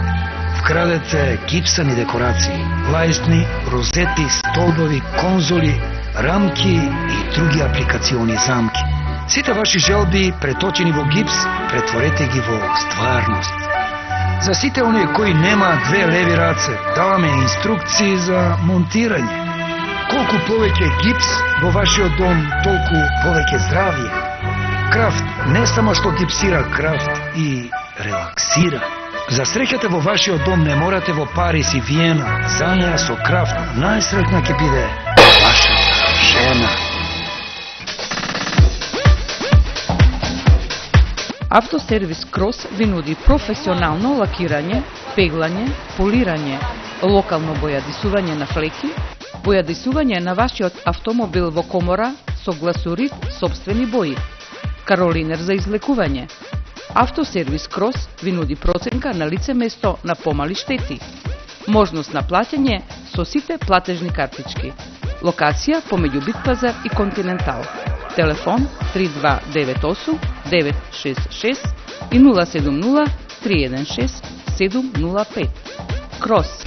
вкрадете гипсани декорации, лајсни, розети, столбови, конзоли, рамки и други апликациони замки. Сите ваши желби, преточени во гипс, претворете ги во стварност. За сите оние кои немаат две леви раце, даваме инструкции за монтирање. Колку повеќе гипс во вашиот дом, толку повеќе здравје. Крафт не само што гипсира, Крафт и релаксира. За среќата во вашиот дом не морате во Парис и Виена. За неа со Крафт најсреќна ќе биде вашата жена. Автосервис Крос ви нуди професионално лакирање, пеглање, полирање, локално бојадисување на флеки, бојадисување на вашиот автомобил во комора со гласурит собствени бои, каролинер за излекување. Автосервис Крос ви нуди проценка на лице место на помали штети, можност на платење со сите платежни картички. Локација помеѓу Битпазар и Континентал. Телефон три два девет осум девет шест шест и нула седум нула три еден шест седум нула пет. Крос.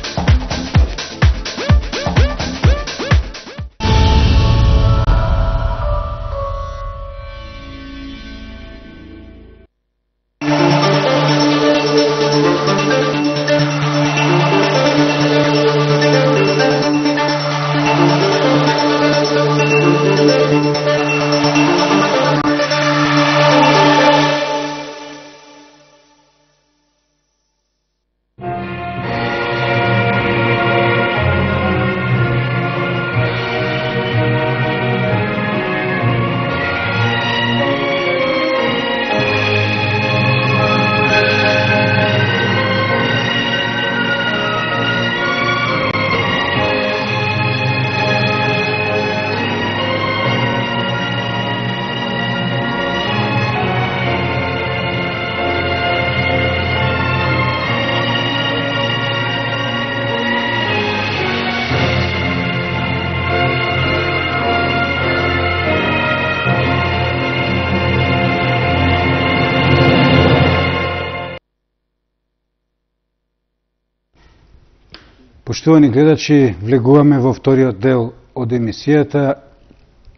Поштовани гледачи, влегуваме во вториот дел од емисијата,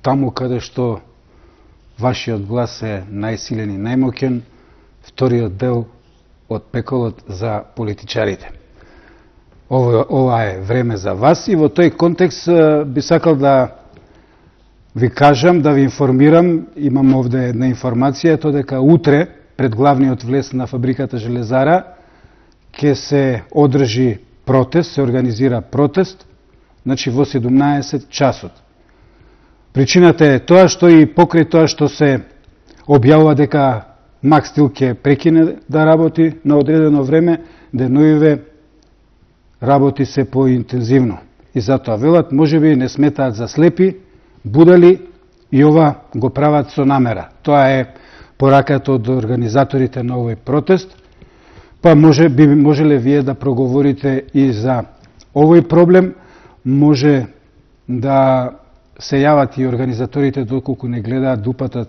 таму каде што вашиот глас е најсилен и најмоќен, вториот дел од пеколот за политичарите. Ова, ова е време за вас и во тој контекст би сакал да ви кажам, да ви информирам, имам овде една информација, тоа дека утре пред главниот влез на фабриката Железара ќе се одржи протест, се организира протест, значи во седумнаесет часот. Причината е тоа што и покрај тоа што се објавува дека Макс Стил ќе прекине да работи на одредено време, деноиве работи се поинтензивно. И затоа велат, можеби не сметаат за слепи, будали и ова го прават со намера. Тоа е пораката од организаторите на овој протест. Па може би можеле вие да проговорите и за овој проблем, може да се јават и организаторите доколку не гледаат да упатат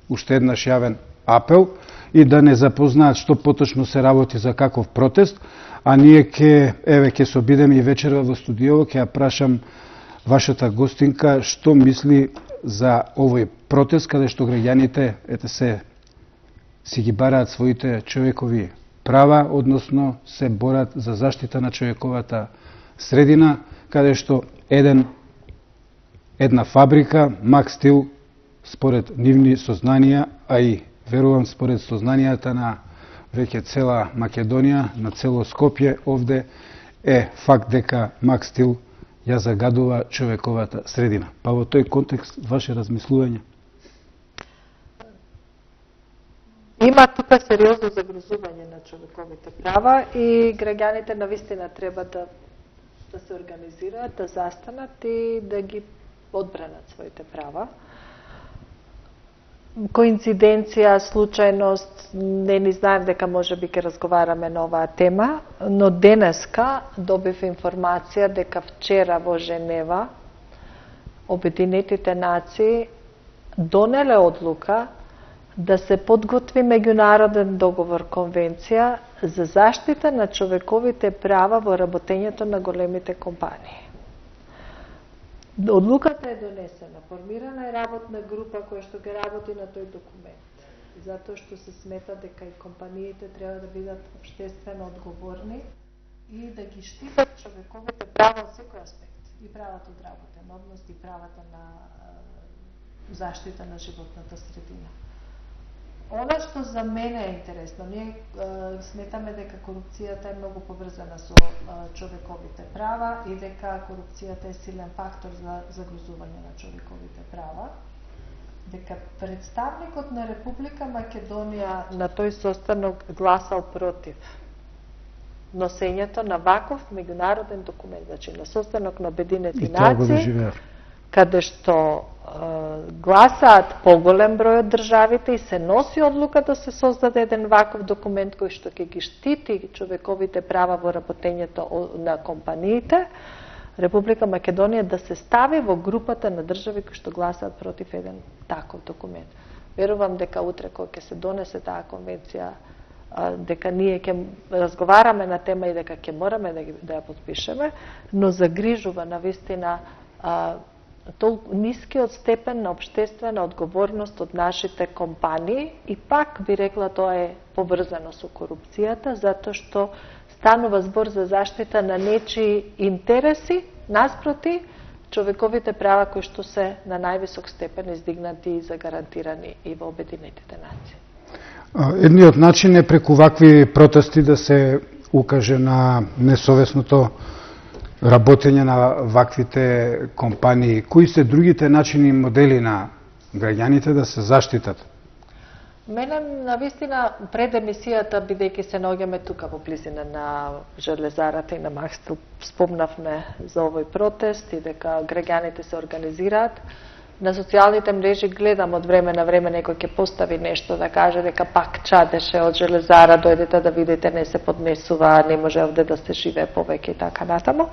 уште еднаш јавен апел и да не запознаат што поточно се работи за каков протест, а ние ке еве ке се обидеме и вечерва во студиово, ќе ја прашам вашата гостинка што мисли за овој протест каде што граѓаните ете се си ги бараат своите човекови права, односно се борат за заштита на човековата средина, каде што еден една фабрика, Макстил, според нивни сознанија, а и верувам според сознанијата на веќе цела Македонија, на цело Скопје, овде е факт дека Макстил ја загадува човековата средина. Па во тој контекст, ваше размислување? Има тука сериозно загрозување на човековите права и граѓаните навистина треба да, да се организираат, да застанат и да ги одбранат своите права. Коинциденција, случајност, не ни знаем дека може би ќе разговараме на оваа тема, но денеска добив информација дека вчера во Женева Обединетите нации донеле одлука да се подготви меѓународен договор, конвенција за заштита на човековите права во работењето на големите компании. Одлуката е донесена, формирана е работна група која што ќе работи на тој документ, затоа што се смета дека и компаниите треба да бидат општествено одговорни и да ги штитат човековите права од секој аспект, и правото од работен однос, и правата на заштита на животната средина. Она што за мене е интересно, ние е, сметаме дека корупцијата е многу поврзана со е, човековите права и дека корупцијата е силен фактор за загрозување на човековите права, дека представникот на Република Македонија на тој состанок гласал против носењето на ваков меѓународен документ, значи на состанок на Обединети нации, каде што е, гласаат поголем број од државите и се носи одлука да се создаде еден ваков документ кој што ќе ги штити човековите права во работењето на компаниите, Република Македонија да се стави во групата на држави кои што гласаат против еден таков документ. Верувам дека утре кога ќе се донесе таа конвенција, дека ние ќе разговараме на тема и дека ќе мораме да, ги, да ја подпишеме, но загрижува навистина толку нискиот степен на општествена одговорност од нашите компании и пак би рекла тоа е поврзано со корупцијата, затоа што станува збор за заштита на нечии интереси наспроти човековите права кои што се на највисок степен издигнати и загарантирани и во Обединетите нации. Едниот начин е преку вакви протести да се укаже на несовесното работење на ваквите компании. Кои се другите начини и модели на граѓаните да се заштитат? Мене, навистина, пред емисијата, бидејќи се наоѓаме тука во близина на железарата и на Макстил, спомнавме за овој протест и дека граѓаните се организираат. На социјалните мрежи гледам од време на време некој ќе постави нешто да каже дека пак чадеше од железара, дојдете да видите, не се поднесува, не може овде да се живее повеќе и така натаму.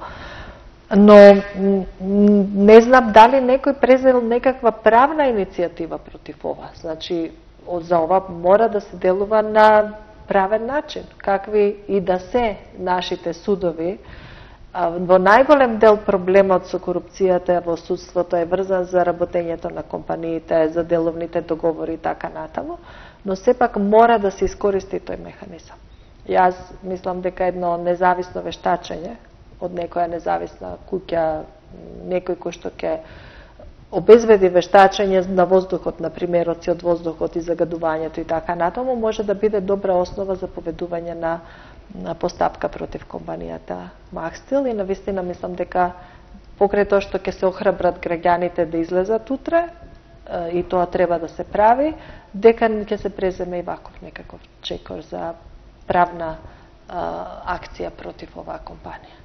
Но не знам дали некој презел некаква правна иницијатива против ова. Значи, за ова мора да се делува на правен начин, какви и да се нашите судови. Во најголем дел проблемот со корупцијата во судството е врзан за работењето на компаниите, за деловните договори и така натаму, но сепак мора да се искористи тој механизам. Јас мислам дека едно независно вештачење од некоја независна куќа, некој кој што ќе обезбеди вештачење на воздухот, на примероци од воздухот и загадувањето и така натаму, може да биде добра основа за поведување на на постапка против компанијата Макстил и навистина мислам дека покрај тоа што ќе се охрабрат граѓаните да излезат утре и тоа треба да се прави, дека ќе се преземе и ваков некаков чекор за правна акција против оваа компанија.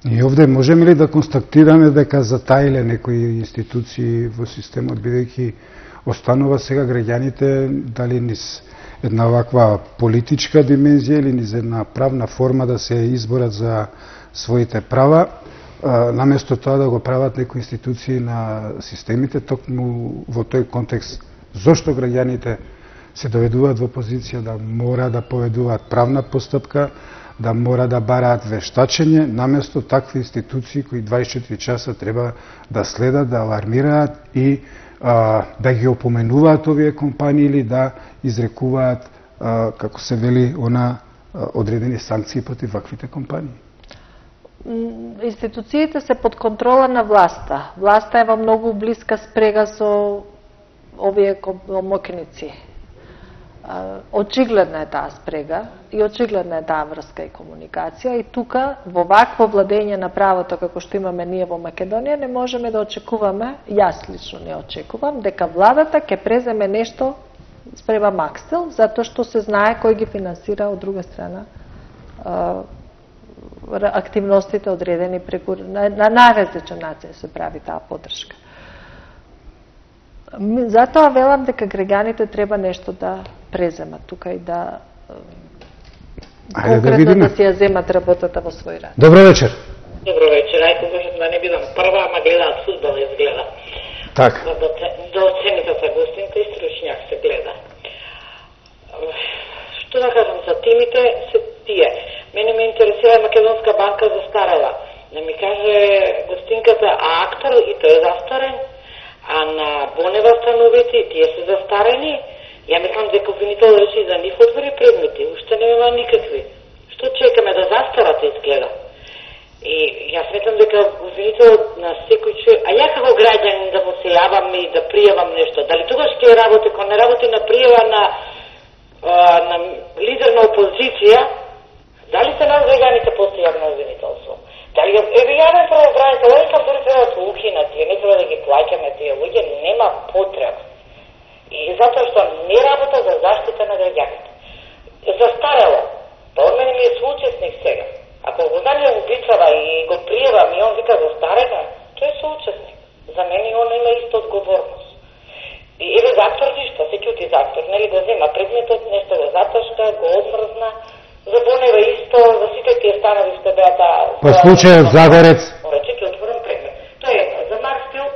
И овде можеме ли да констатираме дека затаиле некои институции во системот, бидејќи останува сега граѓаните дали низ една ваква политичка димензија или низ една правна форма да се изборат за своите права, наместо тоа да го прават некои институции на системите, токму во тој контекст, зошто граѓаните се доведуваат во позиција да мора да поведуваат правна постапка, да мора да бараат вештачење, наместо такви институции кои дваесет и четири часа треба да следат, да алармираат и а, да ги опоменуваат овие компании или да изрекуваат, а, како се вели, она а, одредени санкции против ваквите компании. Институциите се под контрола на власта. Власта е во многу блиска спрега со овие моќници. Очигледна е таа спрега и очигледна е таа врска и комуникација и тука во вакво владење на правото како што имаме ние во Македонија не можеме да очекуваме, јас лично не очекувам, дека владата ќе преземе нешто спреба Макстел, затоа што се знае кој ги финансира од друга страна активностите одредени преку на, на најразличен начин се прави таа поддршка. Затоа велам дека граѓаните треба нешто да преземат тука и да конкретно да, да си ја земат работата во свој рад. Добро вечер. Добро вечер. Ајде можам да не бидам прва, ама гледаат фудбал изгледа. Така. Да, да оцените се гостинка и стручњак се гледа. Што да кажам за темите се тие. Мене ме интересира Македонска банка застарела. Да ми каже гостинката, а актор и тој е застарен, а на Бонева становите тие се застарени. Ја мислам дека обвинител речи за нив отвори предмети, уште нема никакви. Што чекаме да застарат изгледа? И јас сметам дека обвинителот на секој човек, а ја како граѓанин да му се јавам и да пријавам нешто, дали тогаш ќе работи, кога не работи на пријава на, на лидер на опозиција, дали се нас граѓаните после јавно обвинителство? Дали еве јавен правобранител, ој кам дори треба да се укинат, не треба да ги плаќаме тие луѓе, нема потреба. И затоа што не работа за заштита на граѓаните. Застарело. Па од мене ми е соучесник сега. Ако го знаме убицава и го пријавам и он вика застарена, тој е соучесник. За мене он има иста одговорност. И еве за актор ништо, се ќути за актор, нели го зема предметот, нешто го заташка, го одмрзна. За Бонева исто, за сите тие станови што беа таа... По случајот Загорец. Рече ќе отворам предмет. Тоа е за Макстел,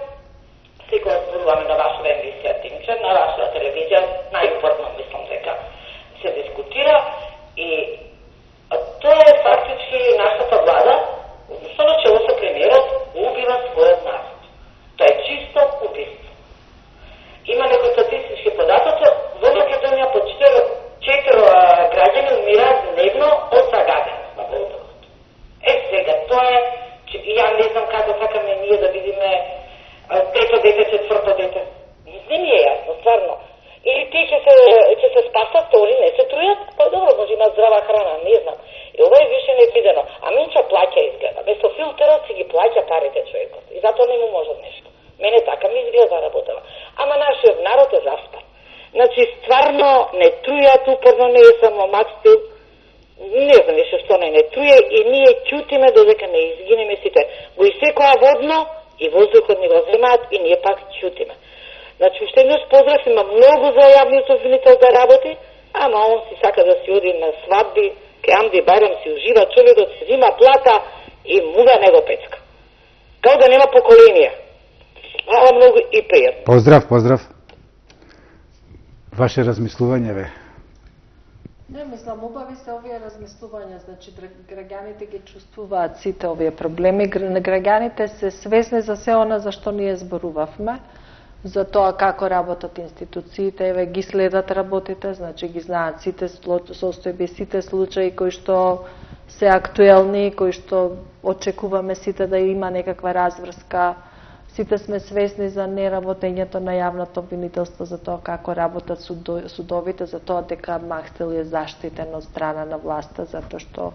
секој зборуваме на ваша емисија, Тимче, на ваша телевизија, најупорно мислам дека се дискутира и тоа е фактички нашата влада, со начело со премиерот, убива својот народ. Тоа е чисто убиство. Има некои статистички податоци, во Македонија по четири граѓани умираат дневно од загаденост на воздухот. Е, сега, тоа е, и ја не знам како сакаме ние да видиме трето дете, четврто дете. Не ми е јасно, стварно. Или тие ќе се, ќе се спасат, они не се трујат, па добро, може има здрава храна, не знам. И ова е више невидено. А Минчо плаќа изгледа. Вместо филтерот си ги плаќа парите човекот. И затоа не му може нешто. Мене така ми изгледа работава. Ама нашиот народ е заспан. Значи, стварно не трујат, упорно не е само Макстел, не знам више што не не труе и ние ќутиме додека не изгинеме сите. Го исекоа водно и воздухот не го земаат и ние пак ќутиме. Значи, уште еднаш поздрав, има многу за јавниот обвинител да работи, ама он си сака да си оди на свадби, ке Амди Барем си ужива, човекот си зима плата и мува него пецка. Као да нема поколенија. Хвала многу и пријатно. Поздрав, поздрав. Ваше размислување, бе? Не, мислам, убави се овие размислувања, значи граѓаните ги чувствуваат сите овие проблеми, граѓаните се свесни за се она за што ние зборувавме, за тоа како работат институциите, еве ги следат работите, значи ги знаат сите состојби, сите случаи кои што се актуелни, кои што очекуваме сите да има некаква разврска. Сите сме свесни за неработењето на јавното обвинителство, за тоа како работат судовите, за тоа дека Макстел е заштитен од страна на власта, затоа што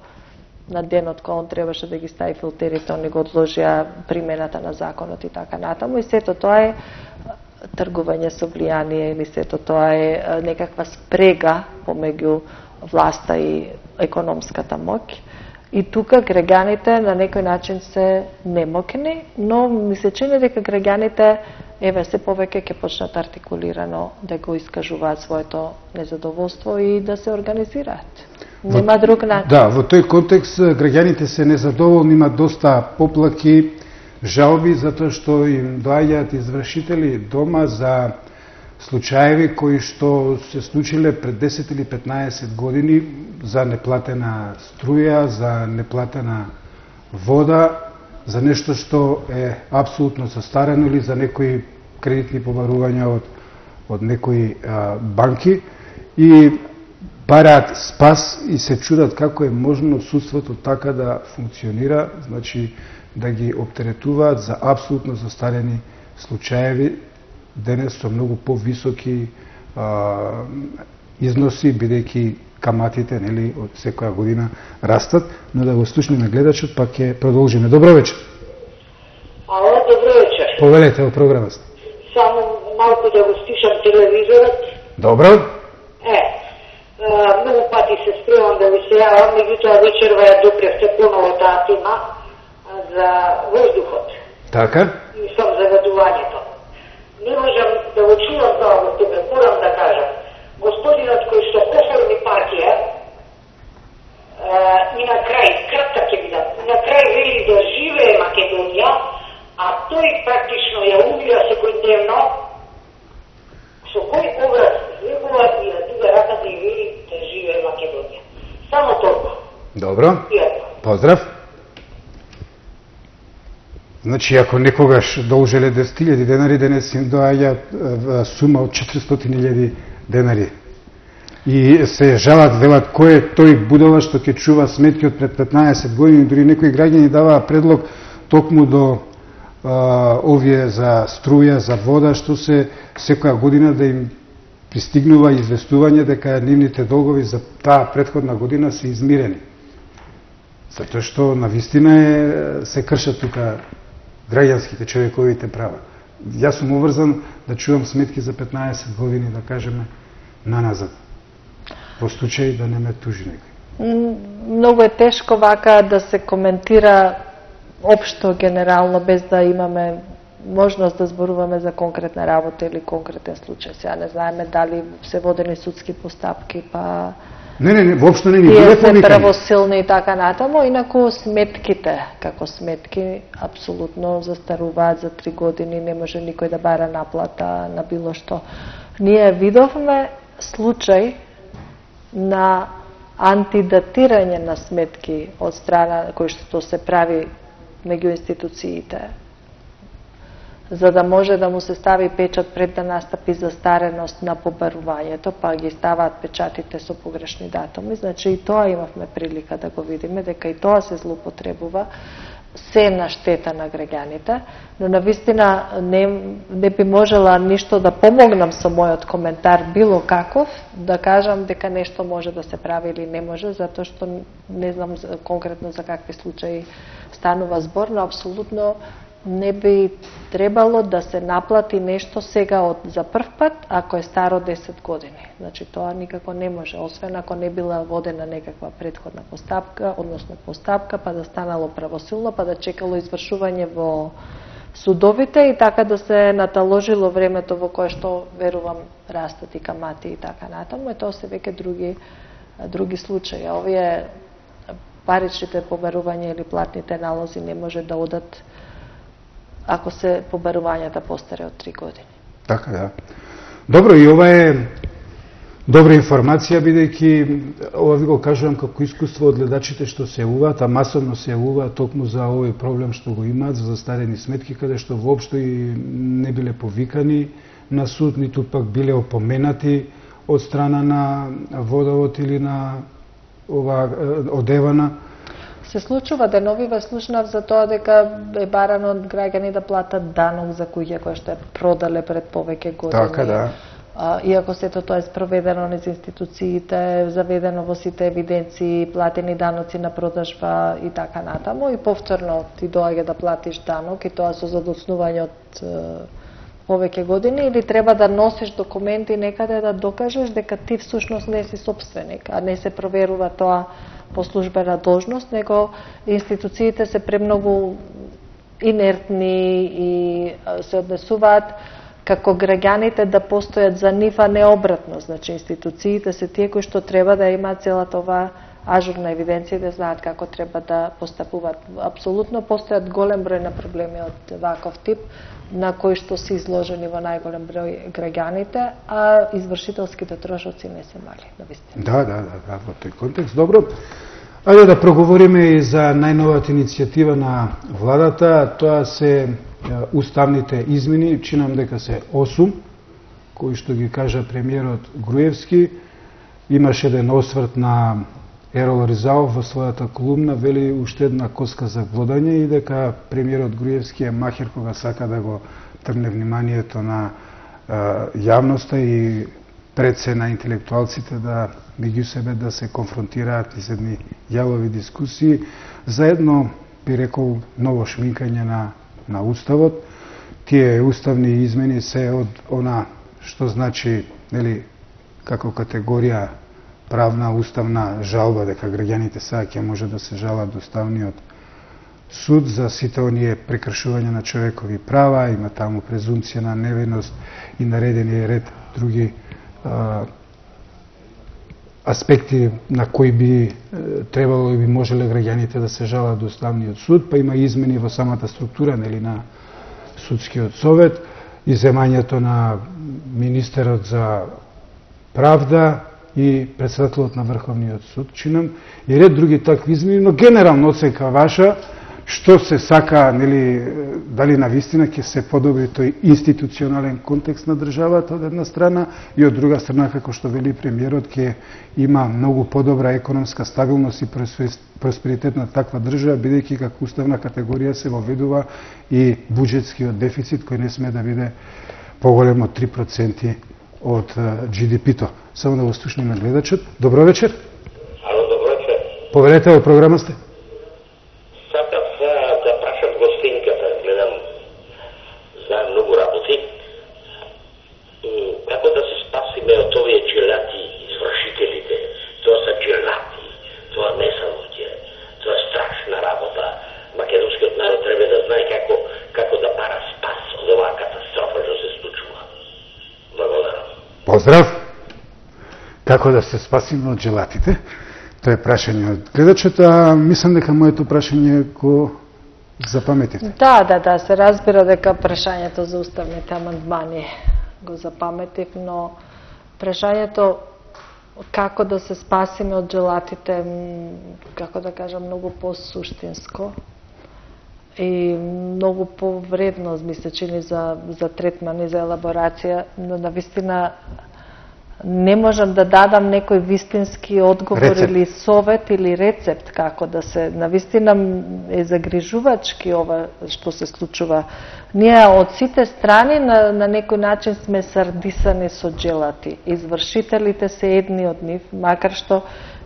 на денот кога он требаше да ги стави филтерите, они го одложија примената на законот и така натаму. И сето тоа е тргување со влијание или сето тоа е некаква спрега помеѓу власта и економската моќ. И тука граѓаните на некој начин се немокни, но ми се чини дека граѓаните еве се повеќе ќе почнат артикулирано да го искажуваат своето незадоволство и да се организираат. Нема друг начин. Да, во тој контекст граѓаните се незадоволни, имат доста поплаки, жалби затоа што им доаѓаат извршители дома за случаеви кои што се случиле пред десет или петнаесет години за неплатена струја, за неплатена вода, за нешто што е апсолутно застарено или за некои кредитни побарувања од, од некои а, банки и бараат спас и се чудат како е можно судството така да функционира, значи да ги оптеретуваат за апсолутно застарени случаеви денес со многу повисоки а, износи, бидејќи каматите нели од секоја година растат, но да го слушнеме гледачот, па ќе продолжиме. Добро вечер. Ало, добро вечер. Повелете во програмата. Само малку да го стишам телевизорот. Добро. Е, а, многу пати се спремам да ви се јавам, меѓутоа вечерва ја допревте поново таа тема за воздухот. Така. И сам загадувањето. Не можам да го чувам тоа во тебе, морам да кажам. Господинот кој што оформи партија и на крај, кратка ќе бидам, на крај вели да живее Македонија, а тој практично ја умира секојдневно, со кој образ излегува и на друга раката и вели да живее Македонија. Само толку. Добро. Пријатно. Поздрав. Значи, ако некогаш должеле десет илјади денари, денес им доаѓа сума од четиристотини илјади денари. И се жалат, велат, кој е тој будала што ќе чува сметки од пред петнаесет години, дури некои граѓани даваа предлог токму до а, овие за струја, за вода, што се секоја година да им пристигнува известување дека нивните долгови за таа претходна година се измирени. Затоа што навистина е, се кршат тука граѓанските, човековите права. Јас сум уврзан да чувам сметки за петнаесет години, да кажеме, наназад. Во случај да не ме тужи некој. Многу е тешко вака да се коментира општо, генерално, без да имаме можност да зборуваме за конкретна работа или конкретен случај. Сега не знаеме дали се водени судски постапки, па Не, не, не, воопшто не ни биле тие се повикани. правосилни и така натаму, инаку сметките, како сметки, апсолутно застаруваат за три години, не може никој да бара наплата на било што. Ние видовме случај на антидатирање на сметки од страна кој што се прави меѓу институциите, за да може да му се стави печат пред да настапи застареност на побарувањето, па ги ставаат печатите со погрешни датуми. Значи и тоа имавме прилика да го видиме, дека и тоа се злоупотребува, се на штета на граѓаните, но навистина не, не би можела ништо да помогнам со мојот коментар било каков, да кажам дека нешто може да се прави или не може, затоа што не знам конкретно за какви случаи станува збор, но апсолутно не би требало да се наплати нешто сега од за прв пат, ако е старо десет години. Значи тоа никако не може, освен ако не била водена некаква претходна постапка, односно постапка, па да станало правосилно, па да чекало извршување во судовите и така да се наталожило времето во кое што, верувам, растат и камати и така натаму, и тоа се веќе други, други случаи. Овие паричните побарувања или платните налози не може да одат ако се побарувањата постаре од три години. Така, да. Добро, и ова е добра информација, бидејќи ова ви го кажувам како искуство од гледачите што се јавуваат, а масовно се јавуваат токму за овој проблем што го имаат, за застарени сметки, каде што воопшто и не биле повикани на суд, ниту пак биле опоменати од страна на водовод или на ова одевана. Се случува деновиве, слушнав за тоа дека е барано од граѓани да платат данок за куќа која што е продале пред повеќе години. Така, да. А, иако сето тоа е спроведено низ институциите, заведено во сите евиденции, платени даноци на продажба и така натаму, и повторно ти доаѓа да платиш данок, и тоа со задоцнување од повеќе години, или треба да носиш документи некаде да докажеш дека ти всушност не си собственик, а не се проверува тоа по службена должност, него институциите се премногу инертни и се однесуваат како граѓаните да постојат за нив, а не обратно. Значи, институциите се тие кои што треба да имаат целата оваа ажурна евиденција и да знаат како треба да постапуваат. Апсолутно постојат голем број на проблеми од ваков тип, на кои што се изложени во најголем број граѓаните, а извршителските трошоци не се мали, навистина. Да, да, да, да, во тој контекст. Добро. Ајде да проговориме и за најновата иницијатива на владата, тоа се уставните измени, чинам дека се осум, кои што ги кажа премиерот Груевски. Имаше еден осврт на Ерол Ризаов во својата колумна, вели уште една коска за глодање и дека премиерот Груевски е махер кога сака да го трне вниманието на е, јавноста и пред се на интелектуалците да меѓу себе да се конфронтираат из едни јавови дискусии за едно, би рекол, ново шминкање на, на уставот. Тие уставни измени се од она што значи, нели, како категорија правна уставна жалба, дека граѓаните сега ќе може да се жалат до Уставниот суд за сите оние прекршувања на човекови права, има таму презумпција на невиност и наредени ред други а, аспекти на кои би е, требало и би можеле граѓаните да се жалат до Уставниот суд, па има измени во самата структура, нели, на судскиот совет, иземањето на министерот за правда и председателот на Врховниот суд, чинам, и ред други такви измени, но генерално оценка ваша, што се сака, нели, дали навистина ќе се подобри тој институционален контекст на државата од една страна и од друга страна, како што вели премиерот, ќе има многу подобра економска стабилност и просперитет на таква држава, бидејќи како уставна категорија се воведува и буџетскиот дефицит кој не сме да биде поголем од три проценти од Джи Ди Пи-то. Само да го слушнеме гледачот. Добро вечер. Ало, добро вечер. Поверете, во програма сте. Сакав да прашам гостинката, гледам за многу работи. Како да се спасиме од овие джилати извршителите? Тоа се джилати, тоа не се луѓе, тоа е страшна работа. Македонскиот народ треба да знае како, како да бара спас од оваа катастрофа што се случува. Благодарам. Поздрав! Како да се спасиме од джилатите? Тоа е прашање од гледачот, а мислам дека моето прашање го запаметите. Да, да, да, се разбира дека прашањето за уставните амандмани го запаметив, но прашањето како да се спасиме од джилатите, како да кажам, многу по-суштинско и многу повредно, ми се чини, за, за третман и за елаборација, но навистина не можам да дадам некој вистински одговор рецепт. Или совет или рецепт како да се, навистина е загрижувачки ова што се случува. Ние од сите страни на, на некој начин сме сардисани со джилати. Извршителите се едни од нив, макар што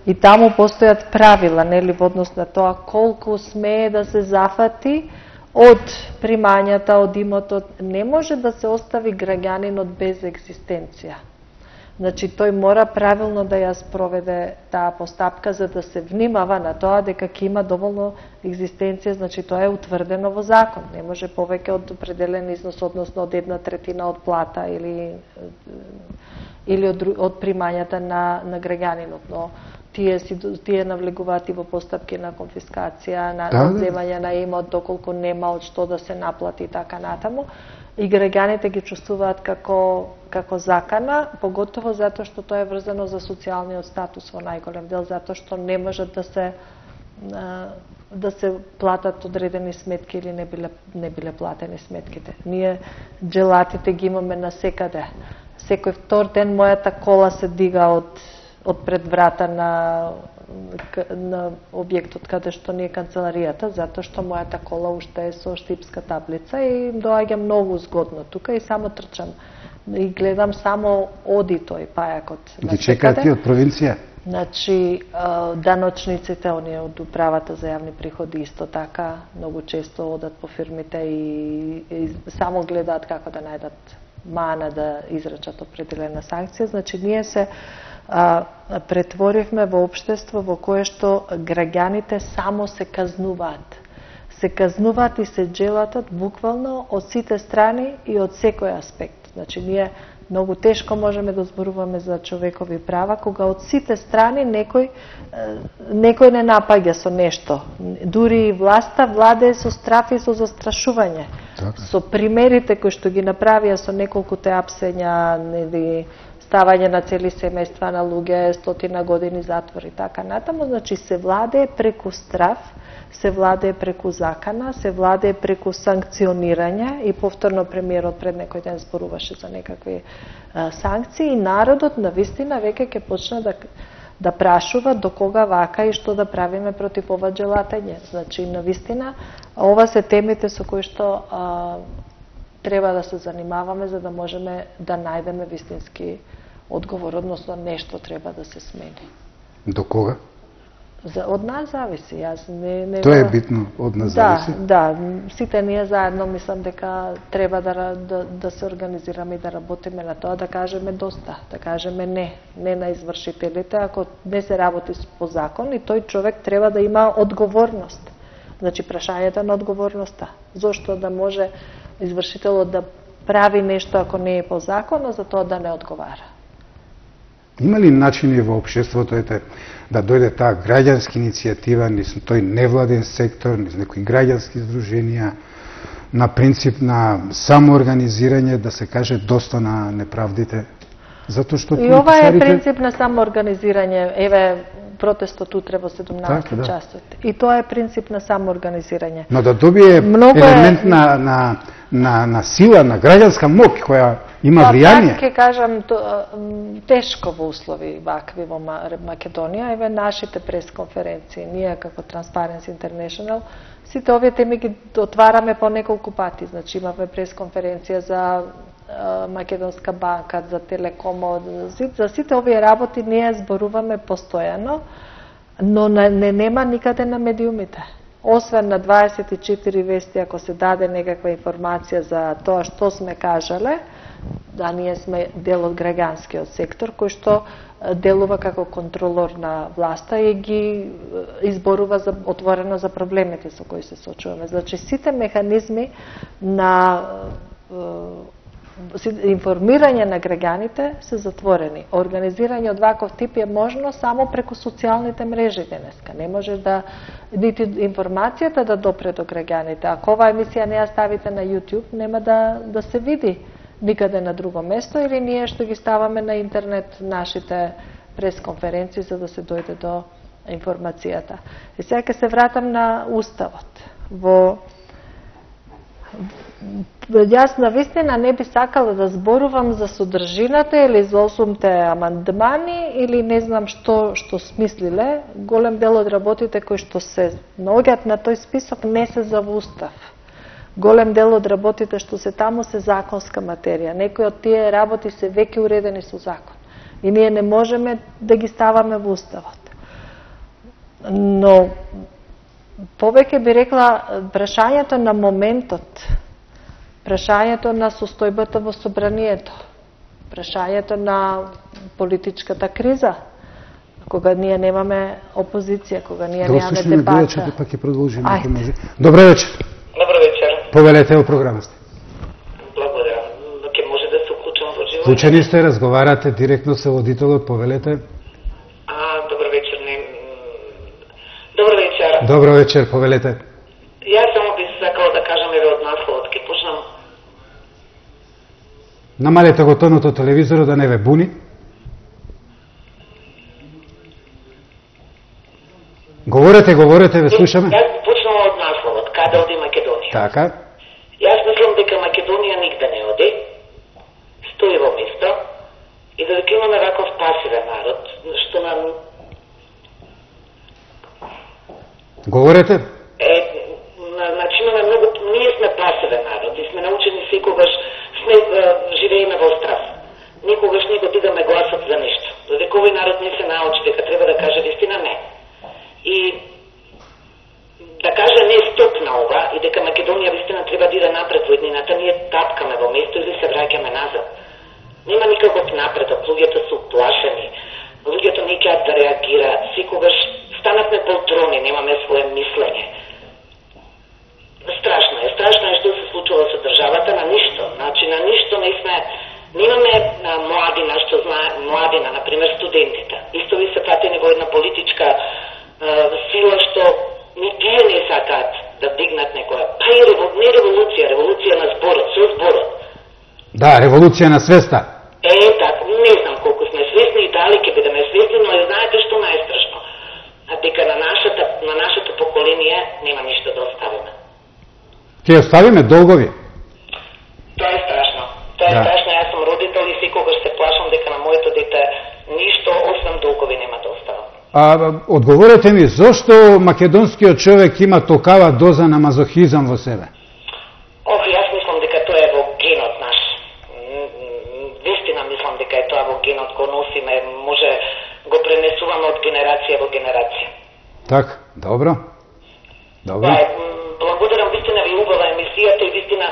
и таму постојат правила, нели, во однос на тоа колку смее да се зафати од примањата, од имотот. Не може да се остави граѓанинот без екзистенција. Значи, тој мора правилно да ја спроведе таа постапка за да се внимава на тоа дека ќе има доволно екзистенција, значи тоа е утврдено во закон. Не може повеќе од определен износ, односно од една третина од плата или или од, од примањата на, на граѓанинот. Но тие, си, тие навлегуваат и во постапки на конфискација, на да, одземање на имот, доколку нема од што да се наплати и така натаму. И граѓаните ги чувствуваат како, како закана, поготово затоа што тоа е врзано за социјалниот статус во најголем дел, затоа што не можат да се да се платат одредени сметки или не биле, не биле платени сметките. Ние джилатите ги имаме насекаде. Секој втор ден мојата кола се дига од, од пред врата на на објектот каде што не е канцеларијата, затоа што мојата кола уште е со штипска таблица и доаѓам многу згодно тука и само трчам и гледам само оди тој пајакот. Ги чекаат ти од провинција? Значи, даночниците, оние од управата за јавни приходи исто така, многу често одат по фирмите и, и само гледаат како да најдат мана да израчат определена санкција. Значи, ние се а, претворивме во општество во кое што граѓаните само се казнуваат. Се казнуваат и се джелатат буквално од сите страни и од секој аспект. Значи, ние многу тешко можеме да зборуваме за човекови права, кога од сите страни некој, некој не напаѓа со нешто. Дури и власта владее со страф и со застрашување. Так. Со примерите кои што ги направија со неколкуте апсења, или ставање на цели семејства на луѓе, стотина години затвор и така натаму, значи се владее преку страф, се владее преку закана, се владее преку санкционирање и повторно премиерот пред некој ден зборуваше за некакви а, санкции и народот навистина веќе ќе почне да да прашува до кога вака и што да правиме против ова джелатење. Значи навистина ова се темите со кои што а, треба да се занимаваме за да можеме да најдеме вистински одговор, односно нешто треба да се смени. До кога? За, од нас зависи. Јас не, не Тоа е битно, од нас да, зависи? Да, сите ние заедно мислам дека треба да, да, да се организираме и да работиме на тоа, да кажеме доста, да кажеме не, не на извршителите, ако не се работи по закон и тој човек треба да има одговорност. Значи, прашањето на одговорноста. Зошто да може извршителот да прави нешто ако не е по закон, а за тоа да не одговара? Има ли начини во општеството ете, да дојде таа граѓанска иницијатива низ тој невладен сектор, низ некои граѓански здруженија, на принцип на самоорганизирање, да се каже доста на неправдите? Затоа што и ова е принцип на самоорганизирање. Еве, протестот утре во седумнаесет така, да. часот. И тоа е принцип на самоорганизирање. Но да добие Много елемент е... на, на, на, на сила, на граѓанска моќ која има влијание. Па, ќе кажам, то, тешко во услови вакви во Македонија. Еве нашите пресконференции, ние како Transparency International, сите овие теми ги отвараме по неколку пати. Значи имавме пресконференција за Македонска банка, за Телекомот, за сите овие работи ние зборуваме постојано, но не нема никаде на медиумите. Освен на дваесет и четири вести, ако се даде некаква информација за тоа што сме кажале, да ние сме дел од граѓанскиот сектор, кој што делува како контролор на власта и ги изборува за, отворено за проблемите со кои се соочуваме. Значи, сите механизми на информирање на граѓаните се затворени. Организирање од ваков тип е можно само преку социјалните мрежи денеска. Не може да нити информацијата да допре до граѓаните. Ако оваа емисија не ја ставите на YouTube, нема да да се види никаде на друго место, или ние што ги ставаме на интернет нашите пресконференции за да се дојде до информацијата. И сега ќе се вратам на Уставот. Во Јас навистина не би сакала да зборувам за содржината или за осумте амандмани или не знам што што смислиле. Голем дел од работите кои што се наоѓаат на тој список не се за Устав. Голем дел од работите што се таму се законска материја. Некои од тие работи се веќе уредени со закон. И ние не можеме да ги ставаме во Уставот. Но повеќе би рекла прашањето на моментот, прашањето на состојбата во собранието, прашањето на политичката криза, кога ние немаме опозиција, кога ние немаме дебата. Да пак ќе продолжиме ако може. Добро вечер. Добро вечер. Повелете во програмата. Благодарам. Ќе може да се уклучам во живот. Вклучени сте, разговарате директно со водителот, повелете. А, добро вечер. Не... Добро вечер. Добро вечер, повелете. Јас само би сакала да кажам еве од насловот, ќе почнам. Намалете го тонот од телевизорот да не ве буни. Говорете, говорете, ве слушаме. Јас почнам од насловот, каде оди Македонија. Така. Јас мислам дека Македонија нигде не оди, стои во место и додека имаме ваков пасивен народ, што нам... Говорете. Е, значи имаме многу... Ние сме пасивен народ и сме научени секогаш, сме, живееме во страх. Никогаш не го дигаме гласот за нешто. Додека овој народ не се научи дека треба например, студентите. Исто ви се пратени во една политичка е, сила што ни тие не сакаат да дигнат некоја. Па и револ... не револуција, револуција на зборот, со зборот. Да, револуција на свеста. Е, така, не знам колку сме свесни и дали ќе бидеме свесни, но знаете што најстрашно? Дека на нашата, на нашето поколение нема ништо да оставиме. Ќе оставиме долгови? Тоа е страшно. Тоа е да. страшно. Јас сум родител и секогаш се плашам дека на моето дете ништо освен долгови нема да оставам. А, одговорете ми, зошто македонскиот човек има токава доза на мазохизам во себе? Ох, јас мислам дека тоа е во генот наш. Вистина мислам дека е тоа во генот, го носиме, може го пренесуваме од генерација во генерација. Так, добро. Добро. Па, благодарам, вистина ви убава емисијата и вистина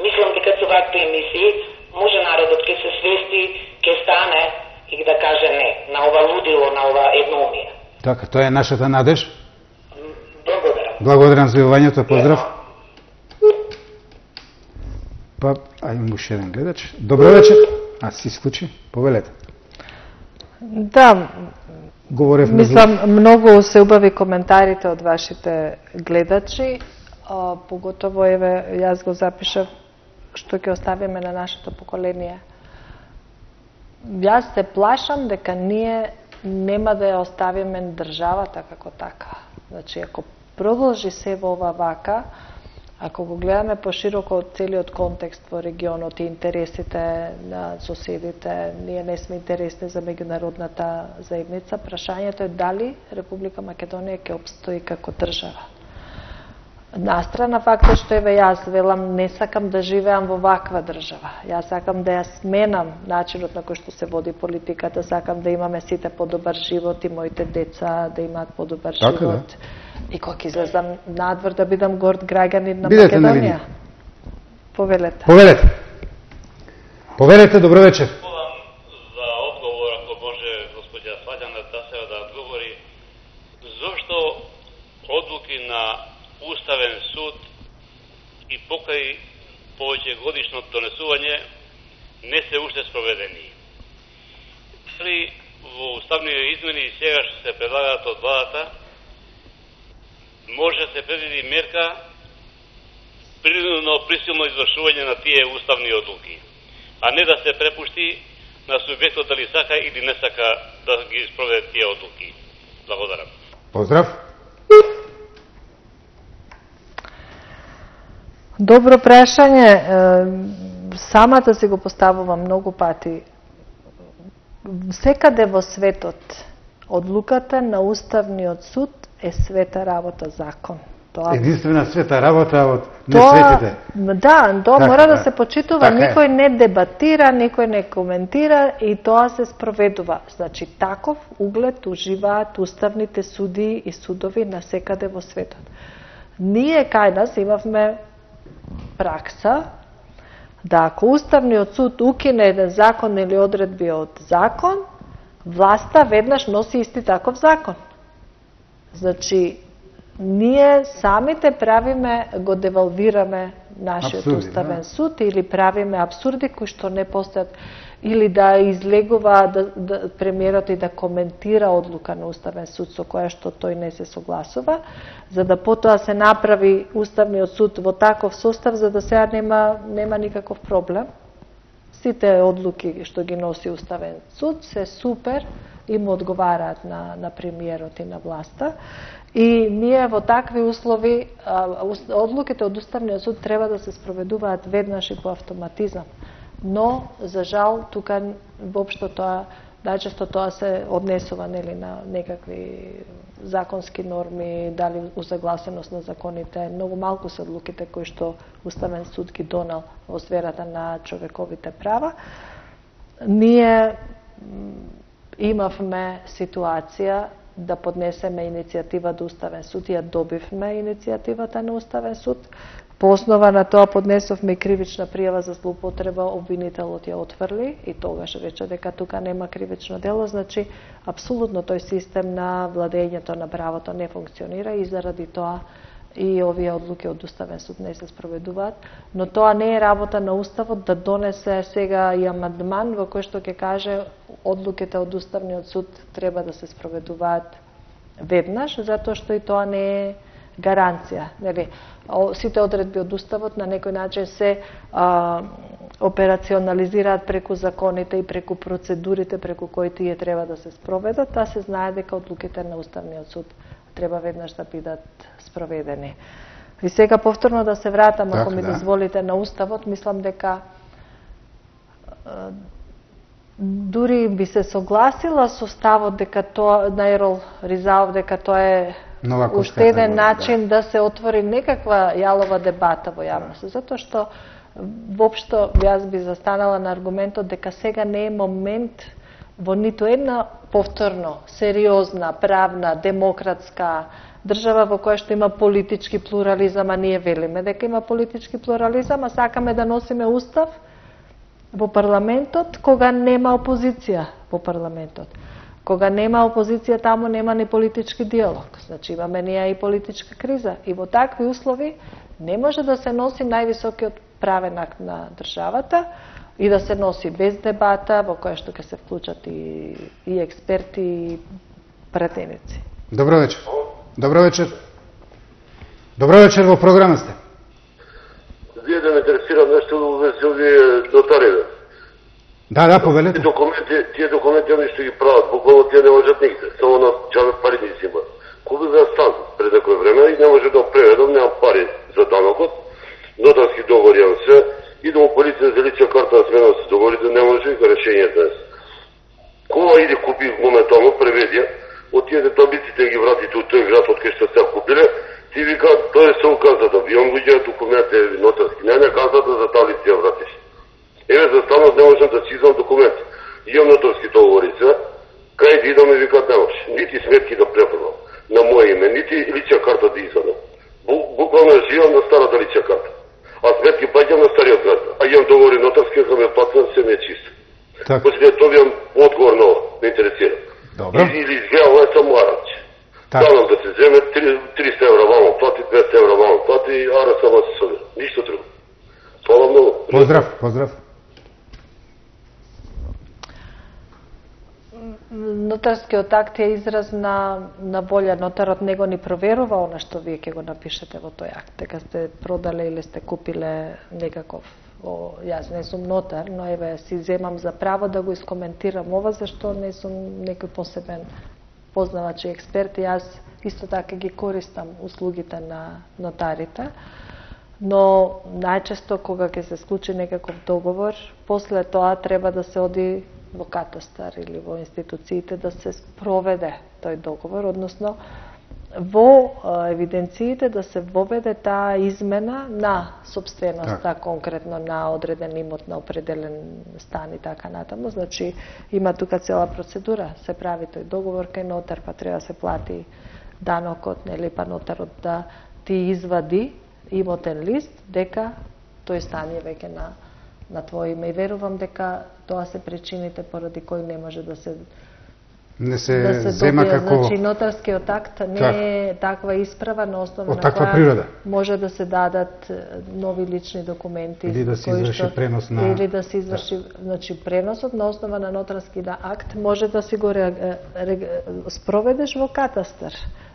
мислам дека со вакви емисии може народот ќе се свести, ќе стане и да каже не на ова лудило, на ова едноумие. Така, тоа е нашата надеж. Благодарам. Благодарам за јавањето, поздрав. Па, ајде уште еден гледач. Добро вечер. А си исклучи? Повелете. Да, говорев мислам, между... многу се убави коментарите од вашите гледачи, а, поготово еве јас го запишав што ќе оставиме на нашето поколение. Јас се плашам дека ние нема да ја оставиме државата како така. Значи, ако продолжи се во ова вака, ако го гледаме пошироко од целиот контекст во регионот и интересите на соседите, ние не сме интересни за меѓународната заедница, прашањето е дали Република Македонија ќе обстои како држава. Настрана фактот што еве јас велам не сакам да живеам во ваква држава. Јас сакам да ја сменам начинот на кој што се води политиката, сакам да имаме сите подобар живот и моите деца да имаат подобар така, живот. Да. И кога излезам надвор да бидам горд граѓанин на Бидете Македонија. На Повелете. Повелете. Повелете, добро вечер. За одговор, ако може господја Сваѓана Тасева да одговори, зошто одлуки на Уставен суд и покај повеќе годишно донесување не се уште спроведени. Дали во уставните измени и сега што се предлагаат од владата, може да се предвиди мерка принудно присилно извршување на тие уставни одлуки, а не да се препушти на субјектот дали сака или не сака да ги спроведе тие одлуки. Благодарам. Поздрав. Добро прашање. Самата си го поставувам многу пати. Секаде во светот одлуката на Уставниот суд е света работа закон. Тоа единствена света работа од несветите. Да, тоа така, мора да, да се почитува, така никој е. не дебатира, никој не коментира и тоа се спроведува. Значи таков углед уживаат уставните суди и судови насекаде во светот. Ние кај нас имавме пракса да ако Уставниот суд укине еден закон или одредби од закон, власта веднаш носи исти таков закон. Значи, ние самите правиме, го девалвираме нашиот абсурди, Уставен да. суд или правиме абсурди кои што не постојат, или да излегува да, да, премиерот и да коментира одлука на Уставен суд со која што тој не се согласува, за да потоа се направи Уставниот суд во таков состав за да сега нема, нема никаков проблем. Сите одлуки што ги носи Уставен суд се супер и му одговараат на, на премиерот и на власта. И ние во такви услови, одлуките од Уставниот суд треба да се спроведуваат веднаш и по автоматизам. Но, за жал, тука воопшто тоа, најчесто тоа се однесува нели, на некакви законски норми, дали усагласеност на законите. Многу малку се одлуките кои што Уставен суд ги донал во сферата на човековите права. Ние имавме ситуација да поднесеме иницијатива до Уставен суд и ја добивме иницијативата на Уставен суд. По основа на тоа поднесовме кривична пријава за злоупотреба, обвинителот ја отфрли и тогаш рече дека тука нема кривично дело, значи апсолутно тој систем на владењето на правото не функционира и заради тоа и овие одлуки од Уставен суд не се спроведуваат, но тоа не е работа на Уставот да донесе сега и амандман во кој што ќе каже одлуките од Уставниот суд треба да се спроведуваат веднаш, затоа што и тоа не е гаранција. Нели, сите одредби од Уставот на некој начин се а, операционализираат преку законите и преку процедурите преку кои тие треба да се спроведат, а се знае дека одлуките на Уставниот суд треба веднаш да бидат спроведени. И сега повторно да се вратам, ако ми да. дозволите, на Уставот, мислам дека дури би се согласила со ставот дека тоа на Ерол Ризаов дека тоа е уште еден начин да. да се отвори некаква јалова дебата во јавност, затоа што воопшто јас би застанала на аргументот дека сега не е момент во ниту една повторно сериозна, правна, демократска држава во која што има политички плурализам, а ние велиме дека има политички плурализам, а сакаме да носиме устав во парламентот кога нема опозиција во парламентот. Кога нема опозиција, таму нема ни политички диалог. Значи имаме ние и политичка криза. И во такви услови не може да се носи највисокиот правен акт на државата и да се носи без дебата, во која што ќе се вклучат и, и експерти и пратеници. Добро вечер. Добро вечер. Добро вечер, во програма сте. Вие да ме интересира нешто во врска овие нотариите. Да, да, повелете. Тие документи, тие документи они што ги прават, буквално тие не можат нигде. Само на џабе пари не взимат. Купи за стан пред некој време и не може да преведам, немам пари за данокот. Нотарски договори имам се, идам у полиција за лична карта на смена се договорите, не може и решение днес. Кога иде купи моментално, преведи, од тие таблиците ги вратите од тој град од кај што се купиле, ти вика, тоа е се указата, вион луѓе документи нотарски, не не казата за таблици ја вратиш. Еве за станот не можам да си извам документи. Имам нотарски договорица, кај да идам и викат не може, нити сметки да преподам на моје име, нити лична карта да извадам. Буквално живам на старата лична карта. А сметки паѓам на стариот град. А имам договори нотарски, ако ме платам, се не е чисто. После тоа имам одговор на ова, ме интересира. Добро. Или изгледа ова е само аранч. Давам да се земе триста евра вално плати, двеста евра вално плати, ара само се собира. Ништо друго. Фала многу. Поздрав, поздрав. Нотарскиот акт е израз на, на волја. Нотарот него ни проверува она што вие ќе го напишете во тој акт. Дека сте продале или сте купиле некаков. О, јас не сум нотар, но еве си земам за право да го искоментирам ова, зашто не сум некој посебен познавач и експерт. Јас исто така ги користам услугите на нотарите. Но најчесто кога ќе се склучи некаков договор, после тоа треба да се оди во катастар или во институциите да се спроведе тој договор, односно во евиденциите да се воведе таа измена на собственоста, так. конкретно на одреден имот, на определен стан и така натаму. Значи има тука цела процедура, се прави тој договор кај нотар, па треба да се плати данокот, нели, па нотарот да ти извади имотен лист дека тој стан е веќе на на твој име. И верувам дека тоа се причините поради кои не може да се не се, да се зема добија. како Значи нотарскиот акт не так. е таква исправа на основа на таква која природа. може да се дадат нови лични документи или да се изврши што, пренос на или да се изврши, да. Значи преносот на основа на нотарски акт може да си го ре, ре, спроведеш во катастар,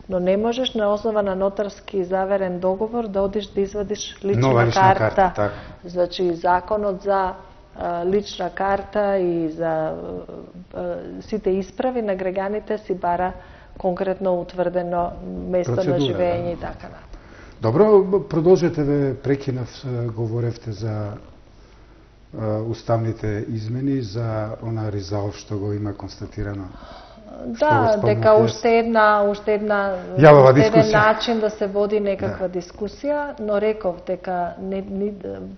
но не можеш на основа на нотарски заверен договор да одиш да извадиш лична, Нова лична карта. карта так. Значи законот за а, лична карта и за а, а, сите исправи на граѓаните си бара конкретно утврдено место процедура, на живење да. и така на. Добро, продолжете, ве прекинав, говоревте за а, уставните измени, за она Ризаов што го има констатирано. Да, дека уште една, уште една, Јавова уште еден дискусија. начин да се води некаква да. дискусија, но реков дека не, не,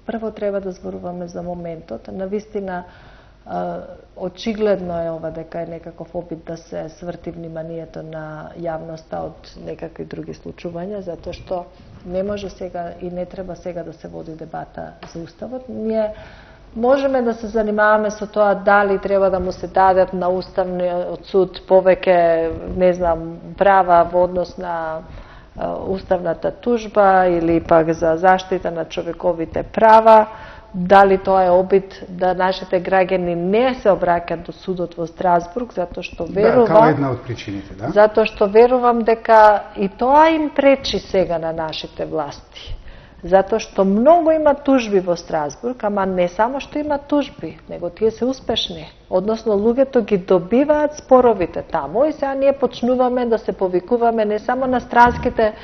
прво треба да зборуваме за моментот. Навистина, очигледно е ова дека е некаков опит да се сврти вниманието на јавноста од некакви други случувања, затоа што не може сега и не треба сега да се води дебата за уставот. Ние можеме да се занимаваме со тоа дали треба да му се дадат на уставниот суд повеќе, не знам, права во однос на уставната тужба или пак за заштита на човековите права, дали тоа е обид да нашите граѓани не се обраќаат до судот во Страсбург, затоа што верувам... Да, као една од причините, да? Затоа што верувам дека и тоа им пречи сега на нашите власти. Затоа што многу има тужби во Страсбург, ама не само што има тужби, него тие се успешни. Односно, луѓето ги добиваат споровите таму и сега ние почнуваме да се повикуваме не само на странските